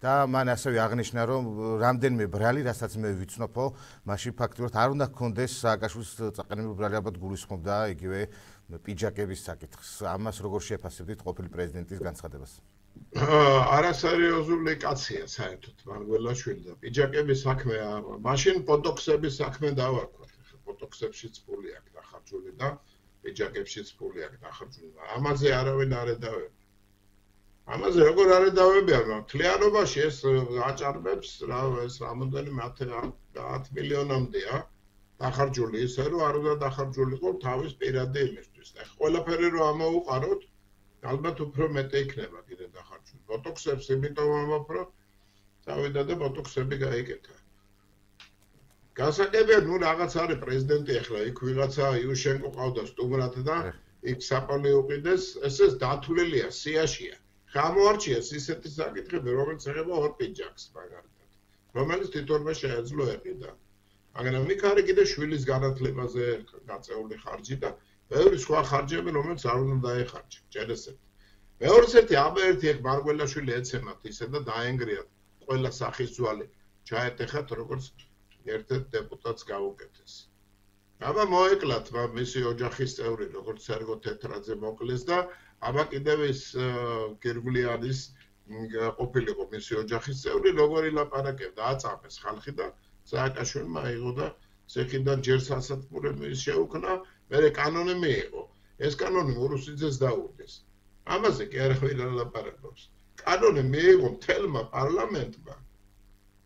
და მან ასევე აღნიშნა, რომ რამდენიმე ბრალი, რასაც მე ვიცნობო, მაშინ ფაქტობრივად არ უნდა ჰქონდეს სააკაშვილის წაყენებული ბრალი, ალბათ გულისხმობდა იგივე პიჯაკების საკითხს. ამას როგორ შეფასებდით ყოფილი პრეზიდენტის განცხადებას? არასერიოზული კაცია საერთოდ მარგველაშვილი და პიჯაკების საქმე მაშინ ბოტოქსების საქმე დავარქვათ. ბოტოქსებშიც ფული აქვს დახარჯული და პიჯაკებშიც ფული აქვს დახარჯული. ამაზე არავინ არ ედავება. ამაზე როგორ არ ედავებიან? მთლიანობაში ეს აჭარბებს ეს რამოდენიმე 10 მილიონამდეა დახარჯული ისე რომ არ უნდა დახარჯულიყო თავის პირადი იმისთვის. ეხლა ყველაფერი რომ ამოუყაროთ ალბათ უფრო მეტი იქნება კიდე დახარჯული. ბოტოქსებს იმიტომ ამბობ, რომ წავიდა და ბოტოქსები გაიკეთა. გასაგებია, ნუ რაღაც არის პრეზიდენტი ახლა იქ ვიღაცა იუშენკო ყავდა სტუმრად და იქ საპალე უყიდეს, ესეც დათვლილია სიაშია. გამოარჩიეს ისეთი საკითხები, რომელიც ეხება ორ პიჯაკს მაგალითად, რომელიც თვითონვე შეეძლო ეყიდა. მაგრამ იქ არის კიდე შვილის განათლებაზე გაწეული ხარჯი და ბევრი სხვა ხარჯები, რომელიც არ უნდა დაეხარჯა, ჭერესები. მეორეს ერთი აბა ერთი მარგველაშვილი ეცემათ ისე და დაენგრიათ ყველა სახის ძვალი ჩაეტეხათ როგორც ერთ-ერთ დეპუტატს გაუკეთეს. აბა მოეკლათ მისი ოჯახის წევრი როგორც სერგო თეთრაძე მოკლეს და აბა კიდევ ის გერგვლიანის ყოფილიყო მისი ოჯახის წევრი როგორ ილაპარაკებდა აწამეს ხალხი და სააკაშვილმა აიღო და ციხიდან ჯერ სასათბურები შეუქმნა მერე კანონი მიიღო ეს კანონი მურუსიძეს დაუდეს ამაზე კი არ ვილაპარაკობს კანონი მიიღო მთელმა პარლამენტმა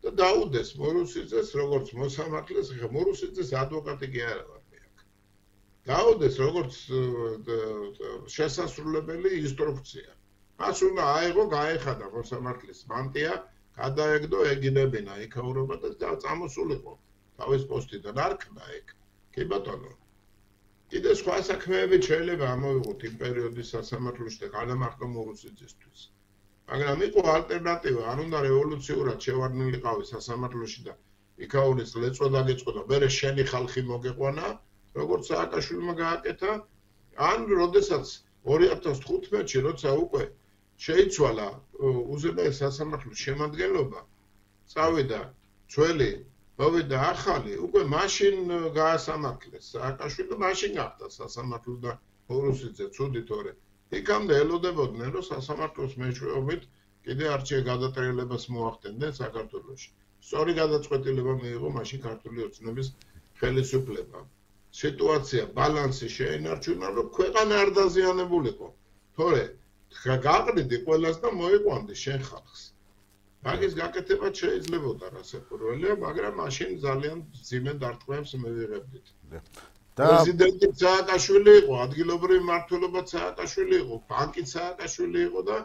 და დაუდეს მურუსიძეს როგორც მოსამართლეს ხა მურუსიძეს ადვოკატი კი არა ვარ მე აქ დაუდეს როგორც შესასრულებელი ინსტრუქცია მას უნდა აიღო გაეხადა მოსამართლის მანტია გადაეგდო ეგინებინა იქაურობა და წამოსულიყო თავის პოსტიდან არ ქნა ეგ კი ბატონო კიდე სხვა საქმეები შეიძლება ამოვიღოთ იმ პერიოდის სასამართლოში და განამარტო მურუსიძისთვის მაგრამ იყო ალტერნატივა არ უნდა რევოლუციურად შევარდნილიყავი სასამართლოში და იქაურის ლეწვა დაგეწყოდა მერე შენი ხალხი მოგეყვანა როგორც სააკაშვილმა გააკეთა ან როდესაც 2015-ში როცა უკვე შეიცვალა უზენაეს სასამართლოს შემადგენლობა წავიდა ძველი მოვიდა ახალი უკვე მაშინ გაასამართლეს სააკაშვილი და მაშინ გახდა სასამართლო და მურუსიძე ცუდი თორე იქამდე ელოდებოდნენ რომ სასამართლოს მეშვეობით კიდე არჩეულ გადატრიალებას მოახდენდნენ საქართველოში სწორი გადაწყვეტილება მიიღო მაშინ ქართული ოცნების ხელისუფლებამ სიტუაცია ბალანსი შეინარჩუნა რომ ქვეყანა არ დაზიანებულიყო თორე გაყრიდი ყველას და მოიყვანდი შენ ხალხს მაგის გაკეთება შეიძლებოდა რასაკვირველია მაგრამ მაშინ ძალიან ძიმე დარტყმებს მივიღებდით პრეზიდენტი სააკაშვილი იყო ადგილობრივი მმართველობა სააკაშვილი იყო ბანკი სააკაშვილი იყო და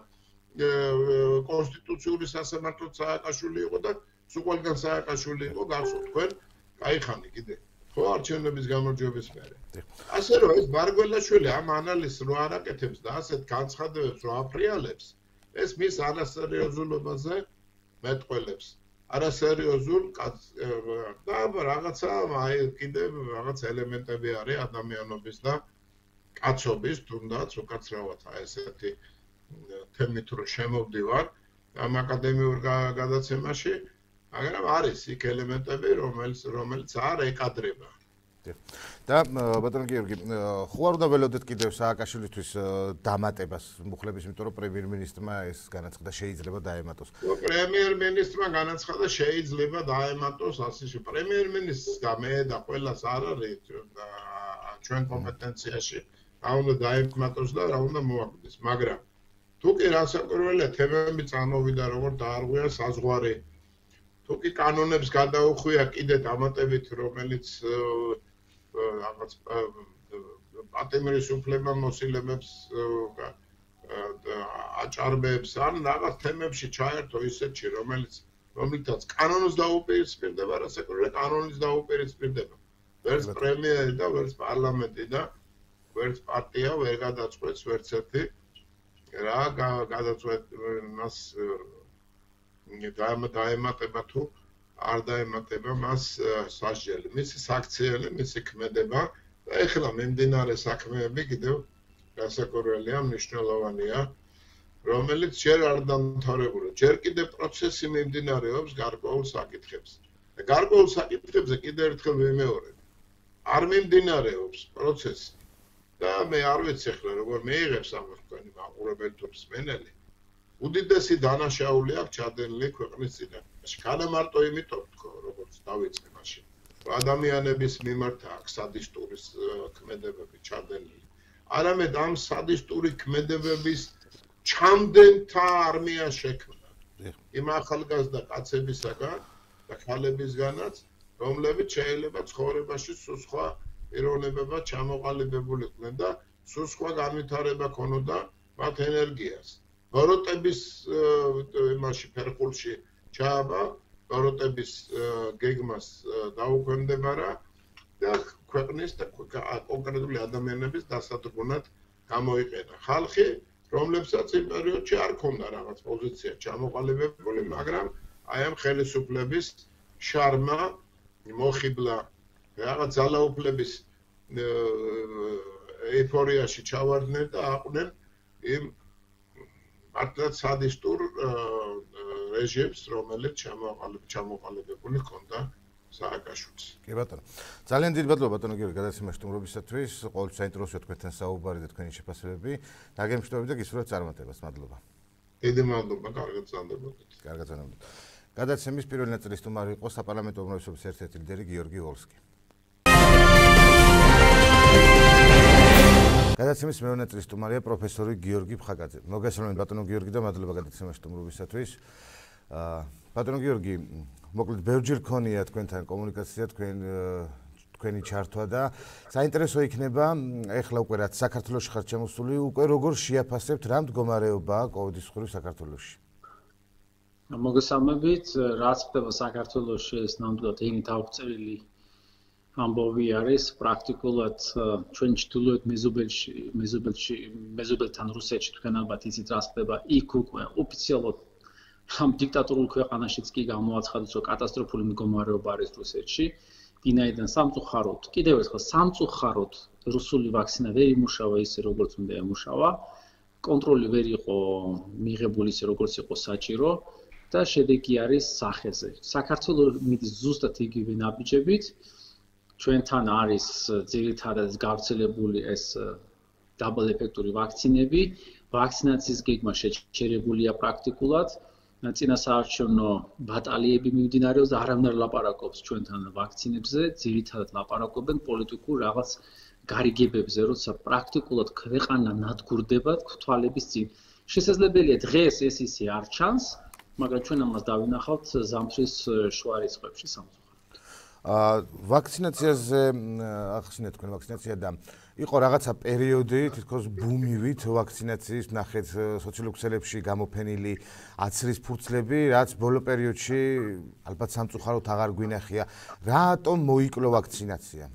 კონსტიტუციური სასამართლო სააკაშვილი იყო და სულ სააკაშვილი იყო გახსოვთ თქვენ გაიხანი კიდე ხო არჩევნების გამარჯვების მერე ასე რომ ეს მარგველაშვილი ამ ანალიზს რო არ აკეთებს და ასეთ განცხადებებს რო აფრიალებს ეს მის არასერიოზულობაზე მეტყველებს არასერიოზულ და რაღაცა აი კიდე რაღაც ელემენტები არის ადამიანობის და კაცობის თუნდაც უკაცრავად აი ესეთი თემით რო შემოვდივარ ამ აკადემიურ გადაცემაში მაგრამ არის იქ ელემენტები რომელიც არ ეკადრება და ბატონო გიორგი ხო არ უნდა ველოდეთ კიდევ სააკაშვილისთვის დამატებას მუხლების იმიტომ რომ პრემიერ-მინისტრმა ეს განაცხადა შეიძლება დაემატოს პრემიერ-მინისტრმა განაცხადა შეიძლება დაემატოს ასე პრემიერ-მინისტრს და მე და ყველას არ არის ჩვენ კომპეტენციაში რა უნდა დაემატოს და რა უნდა მოაკვდეს მაგრამ თუ კი რასაკვირველია თემები წამოვიდა როგორ დაარღვია საზღვარი თუ კი კანონებს გადაუხვია კიდე დამატებით რომელიც რაღაც პატიმრის უფლება მოსილებებს აჭარბებს ან რაღაც თემებში ჩაერთო ისეთში რომლითაც კანონს დაუპირისპირდება რასაკვირველია კანონის დაუპირისპირდება ვერც პრემიერი და ვერც პარლამენტი და ვერც პარტია ვერ გადაწყვეტს ვერც ერთი რა გადაწყვეტს დაემატება თუ არ დაემატება მას სასჯელი მისი საქციელი მისი ქმედება და ეხლა მიმდინარე საქმეები კიდევ რასაკვირველია მნიშვნელოვანია რომელიც ჯერ არ დამთავრებულა ჯერ კიდევ პროცესი მიმდინარეობს გარკვეულ საკითხებზე და გარკვეულ საკითხებზე კიდევ ერთხელ ვიმეორებ არ მიმდინარეობს პროცესი და მე არ ვიცი ახლა როგორ მეიღებს ამას თქვენი მაყურებელი თუ მსმენელი უდიდესი დანაშაული აქვს ჩადენილი ქვეყნის წინაშე. განამარტო იმიტომ თქო, როგორც დავიწყე მაშინ. ადამიანების მიმართ აქვს სადისტური ქმედებები ჩადენილი. არამედ ამ სადისტური ქმედებების ჩამდენთა არმია შექმნა. იმ ახალგაზრდა კაცებისაგან და ხალებისგანაც, რომლებიც შეიძლება ცხოვრებაში სულ სხვა პიროვნებებად ჩამოყალიბებულიყვნენ და სულ სხვა განვითარება ქონოდა მათ ენერგიას. ბოროტების იმაში ფერხულში ჩააბა, ბოროტების გეგმას დაუქვემდებარა და ქვეყნის და კონკრეტული ადამიანების დასადგმად გამოიყენა. ხალხი, რომლებსაც იმ პერიოდში არ ქონდა რაღაც პოზიცია ჩამოყალიბებული, მაგრამ აი ამ ხელისუფლების შარმა მოხიბლა რაღაც ძალაუფლების ეიფორიაში ჩავარდნენ და აყვნენ იმ მართლაც სადისტურ რეჟიმს, რომელიც ჩამოყალიბებული ჰქონდა სააკაშვილს. კი ბატონო. ძალიან დიდი მადლობა ბატონო გიორგი გადაცემაში სტუმრობისათვის. ყოველთვის საინტერესოა თქვენთან საუბარი და თქვენი შეფასებები. დაგემშვიდობებით და გისურვებთ წარმატებას. მადლობა. დიდი მადლობა, კარგად გრძანდებოდეთ. კარგად გრძანდებოდეთ. გადაცემის პირველი ნაწილის სტუმარი იყო საპარლამენტო უმრავლესობის ერთ-ერთი ლიდერი გიორგი ვოლსკი. გადაცემის მეორე ნაწილის სტუმარია პროფესორი გიორგი ფხაკაძე. მოგესალმებით ბატონო გიორგი და მადლობა გადაცემაში სტუმრობისათვის. ბატონო გიორგი, მოკლედ ბევრჯერ გქონია თქვენთან კომუნიკაცია, თქვენი ჩართვა და საინტერესო იქნება ეხლა უკვე რაც საქართველოში ხართ შემოსული, უკვე როგორ შეაფასებთ რა მდგომარეობაა კოვიდის მხრივ საქართველოში? მოგესალმებით, რაც ხდება საქართველოში ეს ნამდვილად ენი დაუწერილი ამბავი არის პრაქტიკულად ჩვენ ჩრდილოეთ მეზობელთან რუსეთში თქვენ ალბათ იცით რა ხდება იქ უკვე ოფიციალურად ამ დიქტატორულ ქვეყანაშიც კი გამოაცხადეს რომ კატასტროფული მდგომარეობა არის რუსეთში ვინაიდან სამწუხაროდ კიდევ ერთხელ სამწუხაროდ რუსული ვაქცინა ვერ იმუშავა ისე როგორც უნდა ემუშავა კონტროლი ვერ იყო მიღებული ისე როგორც იყო საჭირო და შედეგი არის სახეზე საქართველოს მიდის ზუსტად იგივე ნაბიჯებით ჩვენთან არის ძირითადად გავრცელებული ეს დაბլ ეფექტური ვაქცინები, ვაქცინაციის გეგმა შეჩერებულია პრაქტიკულად, წინასაარჩევნო ბატალიები მიმდინარეობს და არავინ არ ლაპარაკობს ჩვენთან ვაქცინებზე, ძირითადად ლაპარაკობენ პოლიტიკურ რაღაც გარიგებებზე, როცა პრაქტიკულად ქვეყანა ნადგურდება თვალების წინ. შესაძლებელია დღეს ეს ისე არ ჩანს, მაგრამ ჩვენ ამას დავინახავთ ზამთრის შუა რიცხვებში სამწუხაროდ. ვაქცინაციაზე ახსნეთ თქვენ ვაქცინაცია და იყო რაღაცა პერიოდი თითქოს ბუმივით ვაქცინაციის ნახეთ სოციალურ ქსელებში გამოფენილი აცრის ფურცლები რაც ბოლო პერიოდში ალბათ სამწუხაროდ აღარ გვინახია რატომ მოიკლო ვაქცინაცია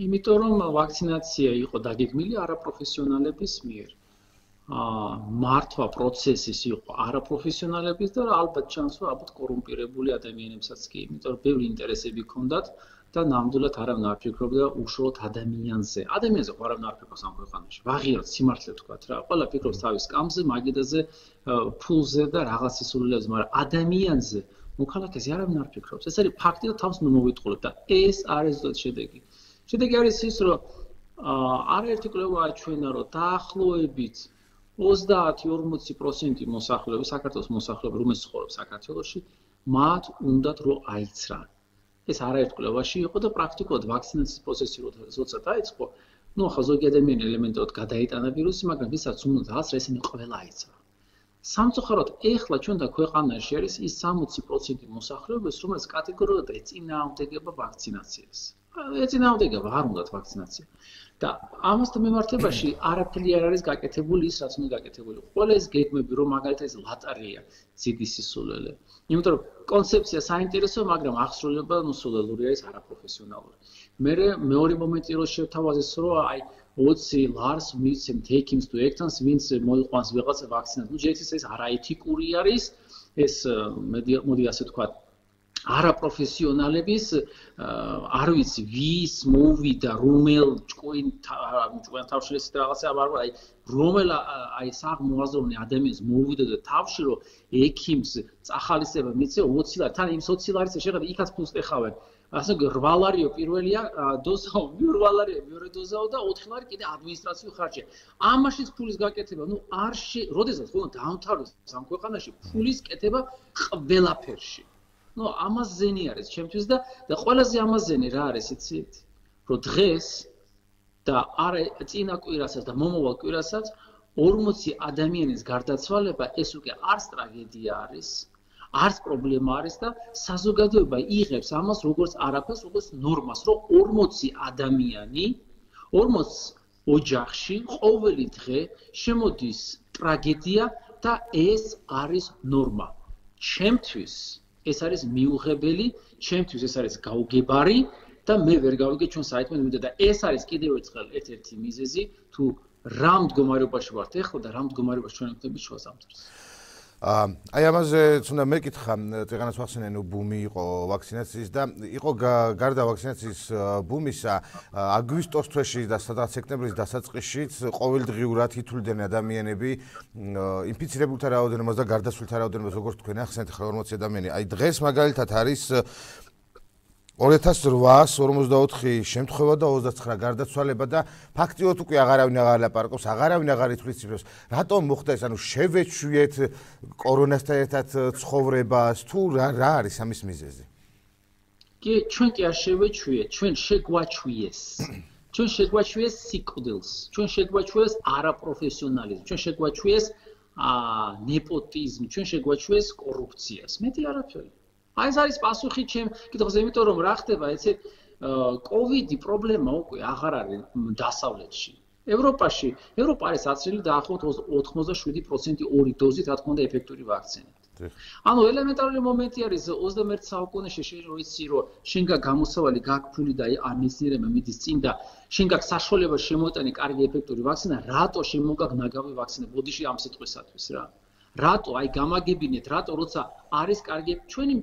იმიტომ რომ ვაქცინაცია იყო დაგეგმილი არაპროფესიონალების მიერ მართვა პროცესის იყო არაპროფესიონალების და ალბათ ჩანს რომ ალბათ კორუმპირებული ადამიანებსაც კი, იმიტომ რომ ბევრი ინტერესები ჰქონდათ და ნამდვილად არავინ არ ფიქრობდა უშუალოდ ადამიანზე. ადამიანზე არავინ არ ფიქრობს ამ ქვეყანაში. ვაღიაროთ სიმართლე ვთქვათ რა. ყველა ფიქრობს თავის კამზე, მაგიდაზე, ფულზე და რაღაც სისულელებზე, მაგრამ ადამიანზე, მოქალაქეზე არავინ არ ფიქრობს. ეს არის ფაქტი და თავს მოვიტყულებთ და ეს არის ზუსტად შედეგი. შედეგი არის ის, რომ არაერთი კვლევა აჩვენა, რომ დაახლოებით 30-40% მოსახლეობა, საქართველოს მოსახლეობა, რომელსაც ცხოვრობს საქართველოში, მათ უნდათ რომ აიცრან. ეს არაერთ კვლევაში იყო და პრაქტიკულად ვაქცინაციის პროცესი როცა დაიწყო, ნუ ახლა ზოგი ადამიანი ელემენტარულად გადაიტანა ვირუსი, მაგრამ ვისაც უნდათ აღწრა, ესენი ყველა აიცრა. სამწუხაროდ, ეხლა ჩვენთა ქვეყანაში არის ის 60% მოსახლეობის, რომელიც კატეგორიულად ეწინააღმდეგება ვაქცინაციას. ეწინააღმდეგება არ უნდათ ვაქცინაცია. და ამასთან მიმართებაში არაფერი არ არის გაკეთებული ის, რაც უნდა გაკეთებული. ყველა ეს გეგმები, რომ მაგალითად ეს ლატარია, ძიდი სისულელე. იმიტომ რომ კონცეფცია საინტერესოა, მაგრამ აღსრულება სულელური არის არაპროფესიონალური. მეორე მომენტი რო შევთავაზეს, რომ აი 20 ლარს მიცემ take-ins to actions, ვინც მოიყვანს ვიღაცა ვაქცინას. ნუ ჯერჯერობით ეს არაეთიკური არის, ეს მოდი ასე ვთქვათ არაპროფესიონალების არ ვიცი ვის მოვიდა რომელ ჭკვენ თავში რაღაცა არ აი რომელ აი საღმოაზროვნე ადამიანს მოვიდა და თავში რომ ექიმს წახალისება მიცე 20 ლარი თან იმ 20 ლარიც შეხედა იქაც ფულს ეხავენ ასე 8 ლარიო პირველია დოზაო 8 ლარია მეორე დოზაო და 4 ლარი კიდე ადმინისტრაციული ხარჯია ამაშიც ფულის გაკეთება ნუ არ როდესაც ხო დაამთავროს ამ ქვეყანაში ფულის კეთება ყველაფერში ნუ ამას ზენი არის ჩემთვის და ყველაზე ამაზენი რა არის იცით რომ დღეს და არა წინა კვირასაც და მომავალ კვირასაც 40 ადამიანის გარდაცვალება ეს უკვე არც ტრაგედია არის არც პრობლემა არის და საზოგადოება იღებს ამას როგორც არაფერს როგორც ნორმას რომ 40 ადამიანი 40 ოჯახში ყოველი დღე შემოდის ტრაგედია და ეს არის ნორმა ჩემთვის ეს არის მიუღებელი, ჩემთვის ეს არის გაუგებარი და მე ვერ გავიგე ჩვენ საერთოდ მინდა და ეს არის კიდევ ერთხელ ერთ-ერთი მიზეზი თუ რა მდგომარეობაში ვართ ეხლა და რა მდგომარეობაში ჩვენ ვქნებით შუა ზამთარს. აი ამაზე თუნდა მეკითხა წეგანას ვახსენე ბუმი იყო ვაქცინაციის და იყო გარდა ვაქცინაციის ბუმისა აგვისტოს თვეში და სადღაც სექტემბრის დასაწყისშიც ყოველდღიურად ითვლიდნენ ადამიანები ინფიცირებულთა რაოდენობას და გარდაცვლილთა რაოდენობას როგორც თქვენ ახსენეთ ხა 40 ადამიანი აი დღეს მაგალითად არის 2844 შემთხვევა და 29 გარდაცვალება და ფაქტიურად უკვე აღარავინ აღარ ლაპარაკობს, აღარავინ აღარ ითვლის ციფრებს. რატომ მოხდა ეს? ანუ შევეჩვიეთ კორონასთან ერთად ცხოვრებას თუ რა არის ამის მიზეზი? კი, ჩვენ კი არ შევეჩვიეთ, ჩვენ შეგვაჩვიეს. ჩვენ შეგვაჩვიეს სიკვდილს, ჩვენ შეგვაჩვიეს არაპროფესიონალიზმს, ჩვენ შეგვაჩვიეს ნეპოტიზმი, ჩვენ შეგვაჩვიეს კორუფციას. მეტი არაფერი. აი ეს არის პასუხი ჩემ კითხვაზე, იმიტომ რომ რა ხდება, ეცე კოვიდი პრობლემა უკვე აღარ არის დასავლეთში. ევროპა არის აცრილი დაახლოებით 87% ორი დოზით, რა თქმა უნდა, ეფექტური ვაქცინით. ანუ ელემენტარული მომენტი არის 21 საუკუნეში შეიცი, რომ შენ გამოსავალი გაქფული და არ მეცნიერებმა მიდის წინ და შენ გაქვს საშუალება შემოიტანე კარგი ეფექტური ვაქცინა, რატო შემოგაგ ნაგავი ვაქცინა? ბოდიში ამ სიტყვისათვის რა. რატო აი გამაგებინეთ, რატო როცა არის კარგი ჩვენი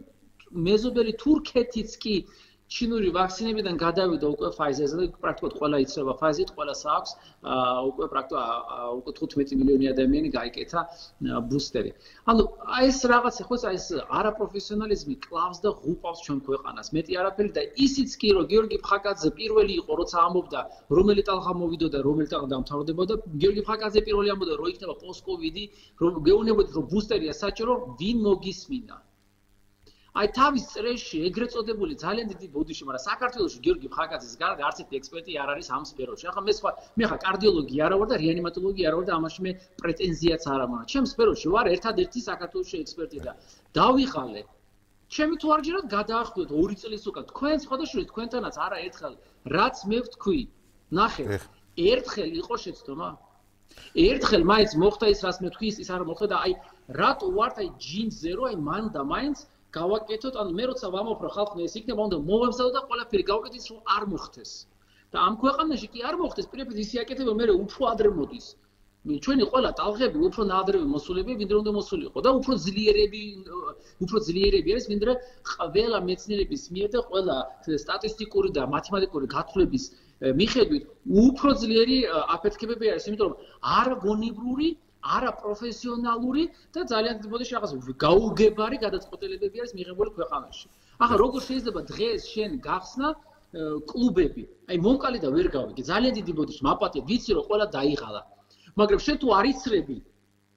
მეზობელი თურქეთიც კი ჩინური ვაქცინებიდან გადავიდა უკვე Pfizer-ზე და პრაქტიკულად ყველა იცრება Pfizer-ით, ყველას აქვს უკვე პრაქტიკულად უკვე 15 მილიონი ადამიანი გაიკეთა ბუსტერი. ანუ აი ეს რაღაცა ხო ეს არაპროფესიონალიზმი კლავს და ღუპავს ჩვენ ქვეყანას. მეტი არაფერი და ისიც კი რომ გიორგი ფხაკაძე პირველი იყო, როცა ამბობდა რომელი ტალღა მოვიდოდა, რომელი ტალღა დამთავრდებოდა, გიორგი ფხაკაძე პირველი ამბობდა რომ იქნება პოსტ-კოვიდი, რომ გეუბნებოდით რომ ბუსტერია საჭირო, ვინ მოგისმინა. აი თავის წრეში ეგრეთ წოდებული ძალიან დიდი ბოდიში, მაგრამ საქართველოში გიორგი ფხაკაძის გარდა არც ერთი ექსპერტი არ არის ამ სფეროში. ახლა მე ხა კარდიოლოგი არა ვარ და რეანიმატოლოგი არა ვარ და ამაში მე პრეტენზიაც არ მაქვს. ჩემ სფეროში ვარ ერთადერთი საქართველოში ექსპერტი და დავიღალე. ჩემი თუ არ ჯერათ გადაახვდეთ 2 წლის უკან. თქვენ სხვადასხვა თქვენთანაც არა ერთხელ რაც მე ვთქვი. ნახეთ. ერთხელ იყო შეცდომა. ერთხელ მაინც მოხდა ის რაც მე ვთქვი, ის არ მოხდა და აი რატო ვართ აი ჯინზე რო აი მან და მაინც გავაკეთოთ, ანუ მე როცა ვამოფრო ხალხმა ეს იქნება, უნდა მოვემზადო და ყველაფერი გავაკეთოთ, რომ არ მოხდეს. და ამ ქვეყანაში კი არ მოხდეს, პირდაპირ ისე აკეთება, მე უფრო ადრე მოდის. ჩვენი ყველა ტალღები უფრო ნადრევი მოსულები, ვინდრე უნდა მოსულიყო და უფრო ძლიერები არის, ვინდრე ყველა მეცნიერების მიერ და ყველა სტატისტიკური და მათემატიკური გათვლების მიხედვით უფრო ძლიერი აფეთქებები არის, იმიტომ რომ არგონიბრული არაპროფესიონალური და ძალიან დიდი ბოდიში რაღაც გაუგებარი გადაწყვეტილებები არის მიღებული ქვეყანაში. ახლა როგორ შეიძლება დღეს შენ გახსნა კლუბები? აი მომკალი და ვერ გავიგე. ძალიან დიდი ბოდიში მაპატე ვიცი რომ ყველა დაიღალა. მაგრამ შენ თუ არ იცრები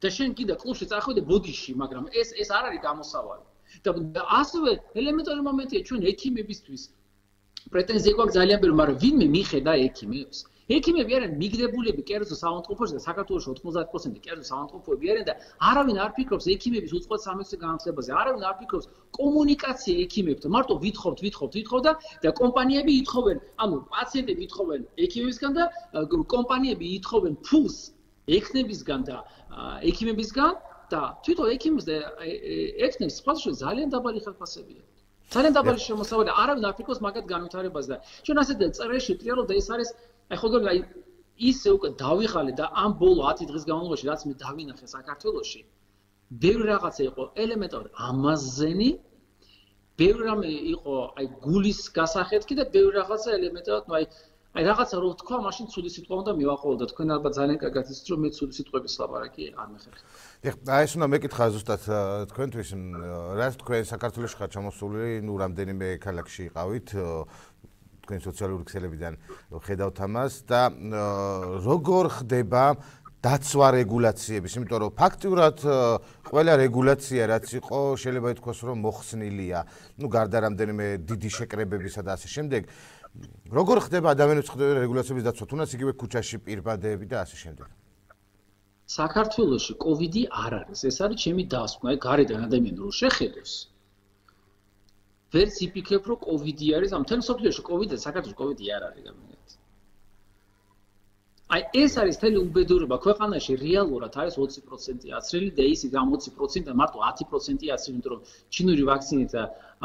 და შენ კიდე კლუბში წახვიდე ბოდიში, მაგრამ ეს არ არის გამოსავალი. და ასევე ელემენტარული მომენტია ჩვენ ექიმებისთვის. პრეტენზია გვაქვს ძალიან ბევრი, მაგრამ ვინმე მიხედა ექიმებს? ექიმები არიან მიგდებულები კერძო საავადმყოფოში და საქართველოში 90% კერძო საავადმყოფოები არიან და არავინ არ ფიქრობს ექიმების უწყლოდ სამეცნიერო განათლებაზე, არავინ არ ფიქრობს კომუნიკაცია ექიმებთან. მარტო ვითხოვთ და კომპანიები ითხოვენ, ანუ პაციენტები ითხოვენ ექიმებისგან და კომპანიები ითხოვენ ფულს ექნებისგან და ექიმებისგან და თვითონ ექიმებს და ექნებს სხვადასხვა ძალიან დაბალი ხელფასებია. ძალიან დაბალი შემოსავალი, არავინ არ ფიქრობს მაგათ განვითარებაზე და ჩვენ ასეთ წრეში ტრიალობ და ეს არის აი ხოლმე აი ისე უკვე დავიღალე და ამ ბოლო 10 დღის განმავლობაში რაც მე დავინახე საქართველოში ბევრი რაღაცა იყო ელემენტარული ამაზენი ბევრი რამე იყო აი გულის გასახეთქი და ბევრი რაღაცა ელემენტარულად ნუ აი რაღაცა რო თქვა მაშინ ცუდი სიტყვა უნდა მივაყოლო და თქვენ ალბათ ძალიან კარგად იცით რომ მე ცუდი სიტყვების ლაპარაკი არ მეხერხება. აი ეს უნდა მეკითხა ზუსტად თქვენთვის რა თქვენ საქართველოში ხარ ჩამოსული ნუ რამდენიმე ქალაქში იყავით თქვენ სოციალური ქსელებიდან ხედავთ ამას და როგორ ხდება დაცვა რეგულაციების, იმიტომ რომ ფაქტიურად ყველა რეგულაცია რაც იყო შეიძლება ითქვას რომ მოხსნილია, ნუ გარდა რამდენიმე დიდი შეკრებებისა და ასე შემდეგ. როგორ ხდება ადამიანების ხდება რეგულაციების დაცვა, თუნდაც იგივე ქუჩაში პირბადეები და ასე შემდეგ. საქართველოში კოვიდი არ არის, ეს არის ჩემი დასკვნა, გარედან ადამიანი რო შეხედოს. ვერც იფიქრებ რომ კოვიდი არის, ამ თემ სოფლიოში კოვიდი, საქართველოში კოვიდი არ არის გამიგეთ. აი ეს არის თელი უბედურება ქვეყანაში რეალურად არის 20% აცრილი და ის ამ 20%-დან მარტო 10% აცრილი, იმიტომ რომ ჩინური ვაქცინით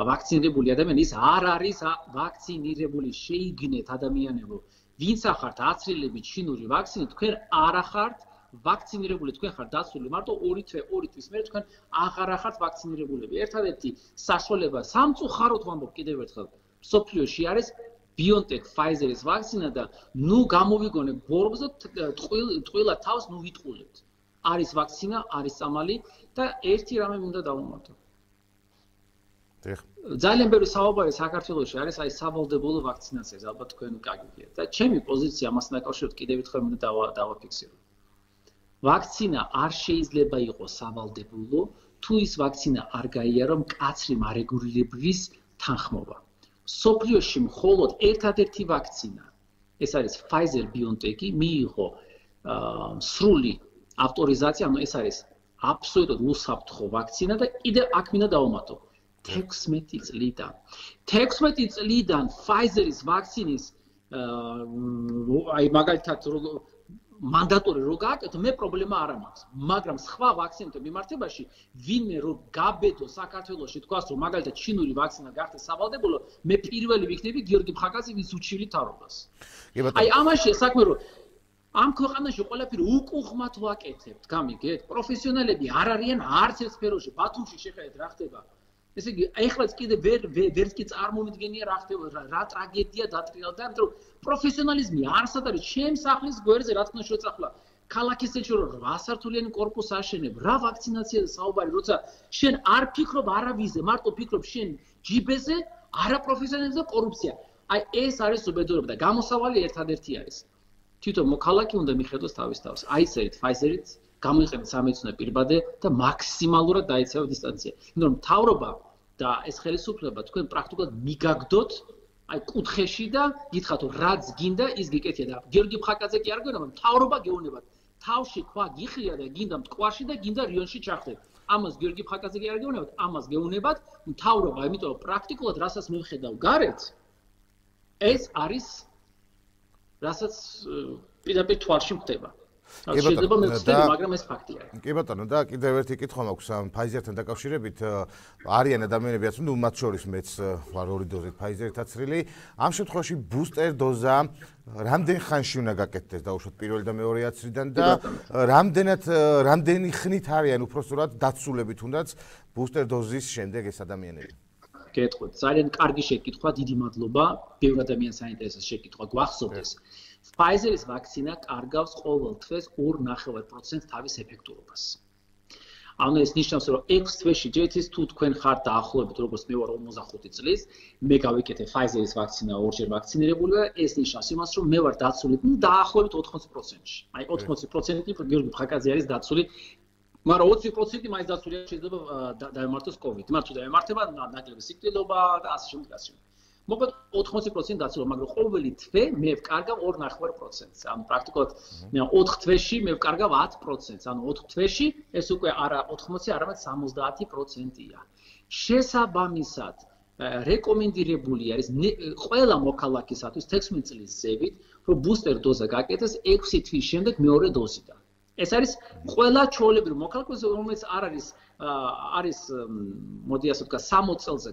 ვაქცინირებული ადამიანი ის არ არის ვაქცინირებული, შეიგნეთ ადამიანებო. ვინც ახართ აცრილები ჩინური ვაქცინით, თქვენ არ ახართ ვაქცინირებული თქვენ ხართ დაცული მარტო 2 თვის მერე თქვენ აღარ ხართ ვაქცინირებულები. ერთადერთი საშუალება სამწუხაროდ ვამბობ კიდევ ერთხელ სოფლიოში არის BioNTech Pfizer-ის ვაქცინა და ნუ გამოვიგონებ ბორბს და ტყუილად თავს ნუ ვიტყულებთ. არის ვაქცინა, არის წამალი და ერთი რამე უნდა დავუმატო. ძალიან ბევრი საუბარი საქართველოში არის აი სავალდებულო ვაქცინაციაზე, ალბათ თქვენ გაგიგიათ. და ჩემი პოზიცია ამასთან დაკავშირებით კიდევ ერთხელ უნდა დავაფიქსირო. ვაქცინა არ შეიძლება იყოს სავალდებულო, თუ ის ვაქცინა არ გაიარო მკაცრი მარეგულირების თანხმობა. სოფლიოში მხოლოდ ერთადერთი ვაქცინა, ეს არის Pfizer BioNTech-ი, მიიღო სრული ავტორიზაცია, ანუ ეს არის აბსოლუტურად უსაფრთხო ვაქცინა და კიდევ აქ მინდა დავუმატო. 16 წლიდან. 16 წლიდან Pfizer-ის ვაქცინის აი მაგალითად მანდატორი რო გააკეთო, მე პრობლემა არ მაქვს. მაგრამ სხვა ვაქცინათა მიმართებაში ვინმე რო გაბედო საქართველოში თქვას რომ მაგალითად ჩინური ვაქცინა გახდეს სავალდებულო, მე პირველი ვიქნები გიორგი ფხაკაძე ვის უჩივი თაობას. აი ამაში საქმე რომ ამ ქვეყანაში ყველაფერი უკუღმათ ვაკეთებთ, გამიგეთ? პროფესიონალები არ არიან არც ერთ სფეროში, ბათუმში შეხედეთ რა ხდება. ესე იგი, ეხლაც კიდე ვერც კი წარმომიდგენია რა ხდება, რა ტრაგედია დატრიალდა, იმიტომ რომ პროფესიონალიზმი არსად არის ჩემს სახლის გვერდზე, რა თქმა უნდა შეწახლა. ქალაქის ეჭვრო 8 სართულიანი კორპუსს აშენებ, რა ვაქცინაციაზე საუბარი, როცა შენ არ ფიქრობ არავიზე, მარტო ფიქრობ შენ ჯიბეზე, არაპროფესიონალიზმი და კორუფცია. აი ეს არის უბედურება და გამოსავალი ერთადერთი არის. თვითონ მოქალაქე უნდა მიხედოს თავის თავს. აიწერეთ Pfizer-ით, გამოიყენეთ სამედიცინო პირბადე და მაქსიმალურად დაეცევა დისტანცია. იმიტომ რომ მთავრობა და ეს ხელისუფლება თქვენ პრაქტიკულად მიგაგდოთ აი კუთხეში და გითხრათ რომ რაც გინდა ის გიკეთია და გიორგი ფხაკაძე კი არ გვეუბნება, მთავრობა გეუბნებათ. თავში ქვა გიხრია და გინდა მტკვარში და გინდა რიონში ჩახდეთ. ამას გიორგი ფხაკაძე კი არ გეუბნებათ, ამას გეუბნებათ მთავრობა, იმიტომ რომ პრაქტიკულად რასაც მე ვხედავ გარეთ ეს არის რასაც პირდაპირ თვალში ხდება. შეიძლება მე ვცდები, მაგრამ ეს ფაქტია. კი ბატონო, და კიდევ ერთი კითხვა მაქვს ამ Pfizer-თან დაკავშირებით. არიან ადამიანებიც, ნუ მათ შორის მეც ვარ 2 დოზით Pfizer-ით აცრილი. ამ შემთხვევაში ბუსტერ დოზა რამდენ ხანში უნდა გაკეთდეს დაუშვათ პირველი და მეორე აცრიდან და რამდენი ხნით არიან უпроსტურად დაცულები თუნდაც ბუსტერ დოზის შემდეგ ეს ადამიანები? გეტყვით, ძალიან კარგი შეკითხვა, დიდი მადლობა. ბევრ ადამიანს საინტერესოს შეკითხვა გვახსოვდეს. Pfizer-ის ვაქცინა კარგავს ყოველ თვეს 2.5% თავის ეფექტურობას. ანუ ეს ნიშნავს, რომ 6 თვეში ჯეთის თუ თქვენ ხართ დაახლოებით როგორც მე ვარ 55 წლის, მე გავიკეთე Pfizer-ის ვაქცინა ორჯერ ვაქცინირებული და ეს ნიშნავს იმას, რომ მე ვარ დაცული დაახლოებით 80%-ში. აი 80% გიორგი ფხაკაძე არის დაცული, მაგრამ 20% მაინც დაცულია შეიძლება დაემართოს COVID. მაგრამ თუ დაემართება ნაკლები სიკვდილობა და ასე შემდეგ. მოკლედ 80% დაცულა, მაგრამ ყოველი თვე მე ვკარგავ 2.5%-ს. ანუ პრაქტიკულად 4 თვეში მე ვკარგავ 10%-ს. ანუ 4 თვეში ეს უკვე არა 80, არამედ 70%-ია. შესაბამისად, რეკომენდირებული არის ყველა მოქალაქისათვის 16 წლის ზევით, რომ ბუსტერ დოზა გაკეთდეს 6 თვის შემდეგ მეორე დოზიდან. ეს არის ყველა ჩვეულებრივ მოქალაქეს, რომელიც არ არის მოდი ასე ვთქვა 60 წელზე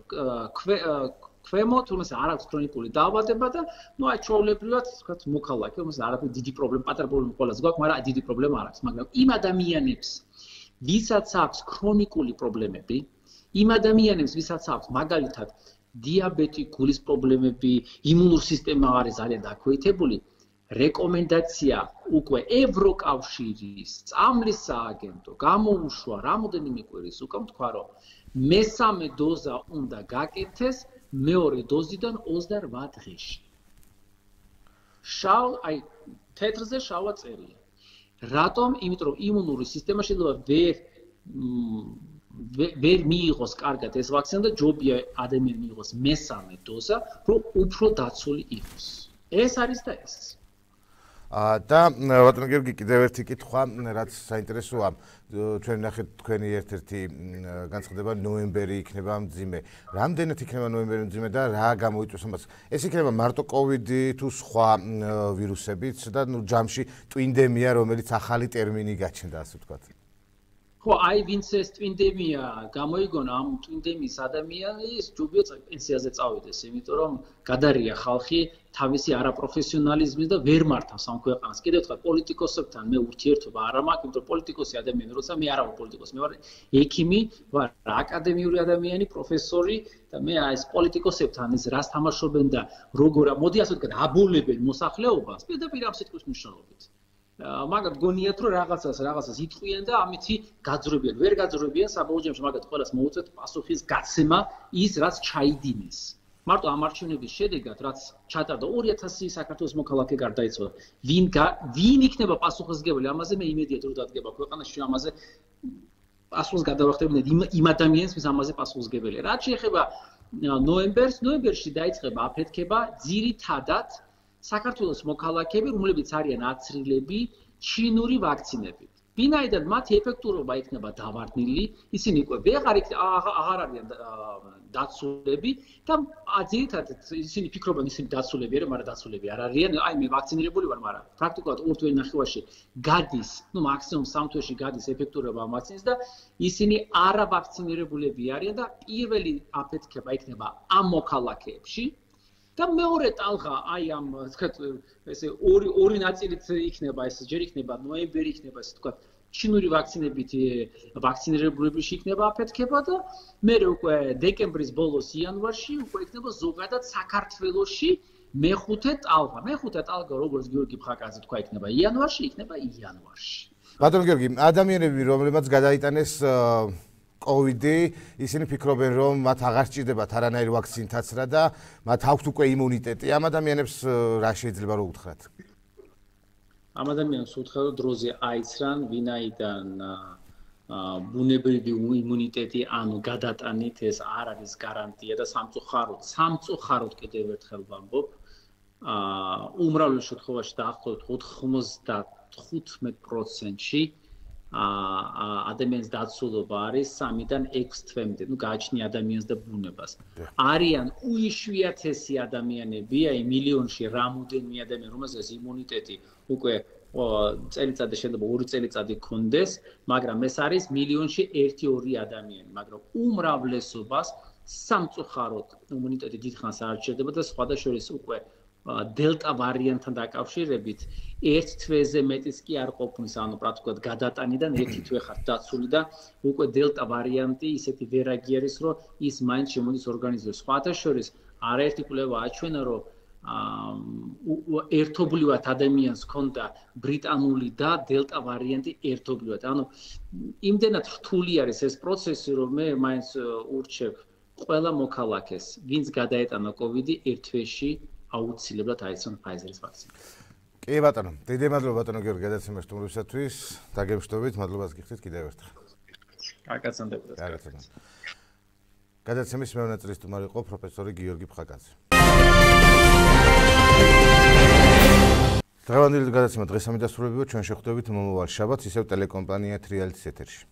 ქვემო, თუმცა არ აქვს ქრონიკული დაავადება და ნუ აი ჩვეულებრივად ვთქვათ მოქალაქე, რომელსაც არაფერი დიდი პრობლემა, პატარა პრობლემა ყველაზე გვაქვს, მაგრამ დიდი პრობლემა არ აქვს, მაგრამ იმ ადამიანებს, ვისაც აქვს ქრონიკული პრობლემები, იმ ადამიანებს, ვისაც აქვს მაგალითად დიაბეტი, გულის პრობლემები, იმუნური სისტემა არის ძალიან დაქვეითებული, რეკომენდაცია უკვე ევროკავშირის წამლის სააგენტო გამოუშვა რამოდენიმე კვირის უკვე თქვა რომ მესამე დოზა უნდა გაკეთდეს მეორე დოზიდან 28 დღეში. აი თეთრზე შავა წერია. რატომ? იმიტომ რომ იმუნური სისტემა შეიძლება ვერ მიიღოს კარგად ეს ვაქცინა და ჯობია ადამიანი მიიღოს მესამე დოზა, რომ უფრო დაცული იყოს. ეს არის და ეს. და ბატონო გიორგი, კიდევ ერთი კითხვა, რაც საინტერესოა, ჩვენ ნახეთ თქვენი ერთ-ერთი განცხადება ნოემბერი იქნება მძიმე. რამდენად იქნება ნოემბერი მძიმე და რა გამოიწვევს ამას? ეს იქნება მარტო COVID-ი თუ სხვა ვირუსებიც და ნუ ჯამში ტვინდემია, რომელიც ახალი ტერმინი გაჩნდა, ასე ვთქვათ. ხო, აი ვინც ეს ტვინდემია გამოიგონა, ამ ტვინდემის ადამიანის ჯობია პენსიაზე წავიდეს, იმიტომ რომ გადარია ხალხი თავისი არაპროფესიონალიზმის და ვერ მართავს ამ ქვეყანას. კიდევ ერთხელ პოლიტიკოსებთან მე ურთიერთობა არ მაქვს, იმიტომ რომ პოლიტიკოსი ადამიანი, როცა მე არ ვარ პოლიტიკოსი, მე ვარ ექიმი, ვარ აკადემიური ადამიანი, პროფესორი და მე ეს პოლიტიკოსებთან ეს რას თამაშობენ და როგორ მოდი ასე ვთქვათ, აბოლებენ მოსახლეობას, პირდაპირ ამ სიტყვის მნიშვნელობით. მაგათ გონიათ რომ რაღაცას იტყვიან და ამითი გაძრებიან. ვერ გაძრებიან საბოლოო ჯამში მაგათ ყველას მოუწევთ პასუხის გაცემა ის რაც ჩაიდინეს. მარტო ამ არჩევნების შედეგად რაც ჩატარდა 2000 საქართველოს მოქალაქე გარდაიცვალა. ვინ იქნება პასუხისმგებელი ამაზე მე იმედია რომ დადგება ქვეყანაში ამაზე პასუხს გადავახდებინეთ იმ ადამიანს ვის ამაზე პასუხისმგებელია. რაც შეეხება ნოემბერში დაიწყება აფეთქება ძირითადად საქართველოს მოქალაქეები, რომლებიც არიან აცრილები ჩინური ვაქცინებით. ვინაიდან მათი ეფექტურობა იქნება დავარდნილი, ისინი უკვე აღარ არიან დაცულები და ძირითადად ისინი ფიქრობენ ისინი დაცულები არიან, მაგრამ დაცულები არ არიან. აი მე ვაქცინირებული ვარ, მაგრამ პრაქტიკულად 2 თვე ნახევარში გადის, მაქსიმუმ 3 თვეში გადის ეფექტურობა ვაქცინის და ისინი არავაქცინირებულები არიან და პირველი აფეთქება იქნება ამ მოქალაქეებში. და მეორე ტალღა აი ამ თქვათ ესე ორი ნაწილით იქნება ეს ჯერ იქნება ნოემბერი იქნება ესე თქვათ ჩინური ვაქცინებით ვაქცინირებულებში იქნება აფეთქება და მე უკვე დეკემბრის ბოლოს იანვარში უკვე იქნება ზოგადად საქართველოში მეხუთე ტალღა როგორც გიორგი ფხაკაძე თქვა იქნება იანვარში ბატონ გიორგი ადამიანები რომლებმაც გადაიტანეს COVID-ი, ისინი ფიქრობენ, რომ მათ აღარ სჭირდებათ არანაირი ვაქცინაცრა და მათ აქვთ უკვე იმუნიტეტი. ამ ადამიანებს რა შეიძლება რომ უთხრათ? ამ ადამიანებს უთხრა, რომ დროზე აიცრან, ვინაიდან ბუნებრივი იმუნიტეტი, ანუ გადატანით ეს არ არის გარანტია და სამწუხაროდ კიდევ ერთხელ ვამბობ, უმრავლეს შემთხვევაში დაახლოებით 95%-ში ადამიანის დაცულობა არის 3-დან 6 თვემდე, გააჩნია ადამიანს და ბუნებას. არიან უიშვიათესი ადამიანები, აი მილიონში რამოდენიმე ადამიანი, რომელსაც იმუნიტეტი უკვე წელიწადი შეიძლება 2 წელიწადი გქონდეს, მაგრამ ეს არის მილიონში 1-2 ადამიანი, მაგრამ უმრავლესობას სამწუხაროდ იმუნიტეტი დიდხანს არ სჭირდება და სხვათა შორის უკვე დელტა ვარიანტთან დაკავშირებით ერთ თვეზე მეტიც კი არ ყოფნის, ანუ პრაქტიკულად გადატანიდან ერთი თვე ხართ დაცული და უკვე დელტა ვარიანტი ისეთი ვერაგი არის, რომ ის მაინც შემოდის ორგანიზმში. სხვათა შორის არაერთი კვლევა აჩვენა, რომ ერთობლივად ადამიანს ჰქონდა ბრიტანული და დელტა ვარიანტი ერთობლივად. ანუ იმდენად რთული არის ეს პროცესი, რომ მე მაინც ურჩევ ყველა მოქალაქეს, ვინც გადაეტანა COVID-ი ერთ თვეში აუცილებლად აიცნონ Pfizer-ის ვაქცინა. კი ბატონო, დიდი მადლობა ბატონო გიორგი გადაცემის სტუმრობისათვის. დაგემშვიდობით, მადლობას გიხდით კიდევ ერთხელ. კარგაცანდებოდეთ. გადაცემის მეორე ნაწილის სტუმარი იყო პროფესორი გიორგი ფხაკაძე. დღევანდელი გადაცემა დღეს ამით დასრულებია. ჩვენ შეხვდებით მომავალ შაბათს ისევ ტელეკომპანია Trial-ის ეთერში.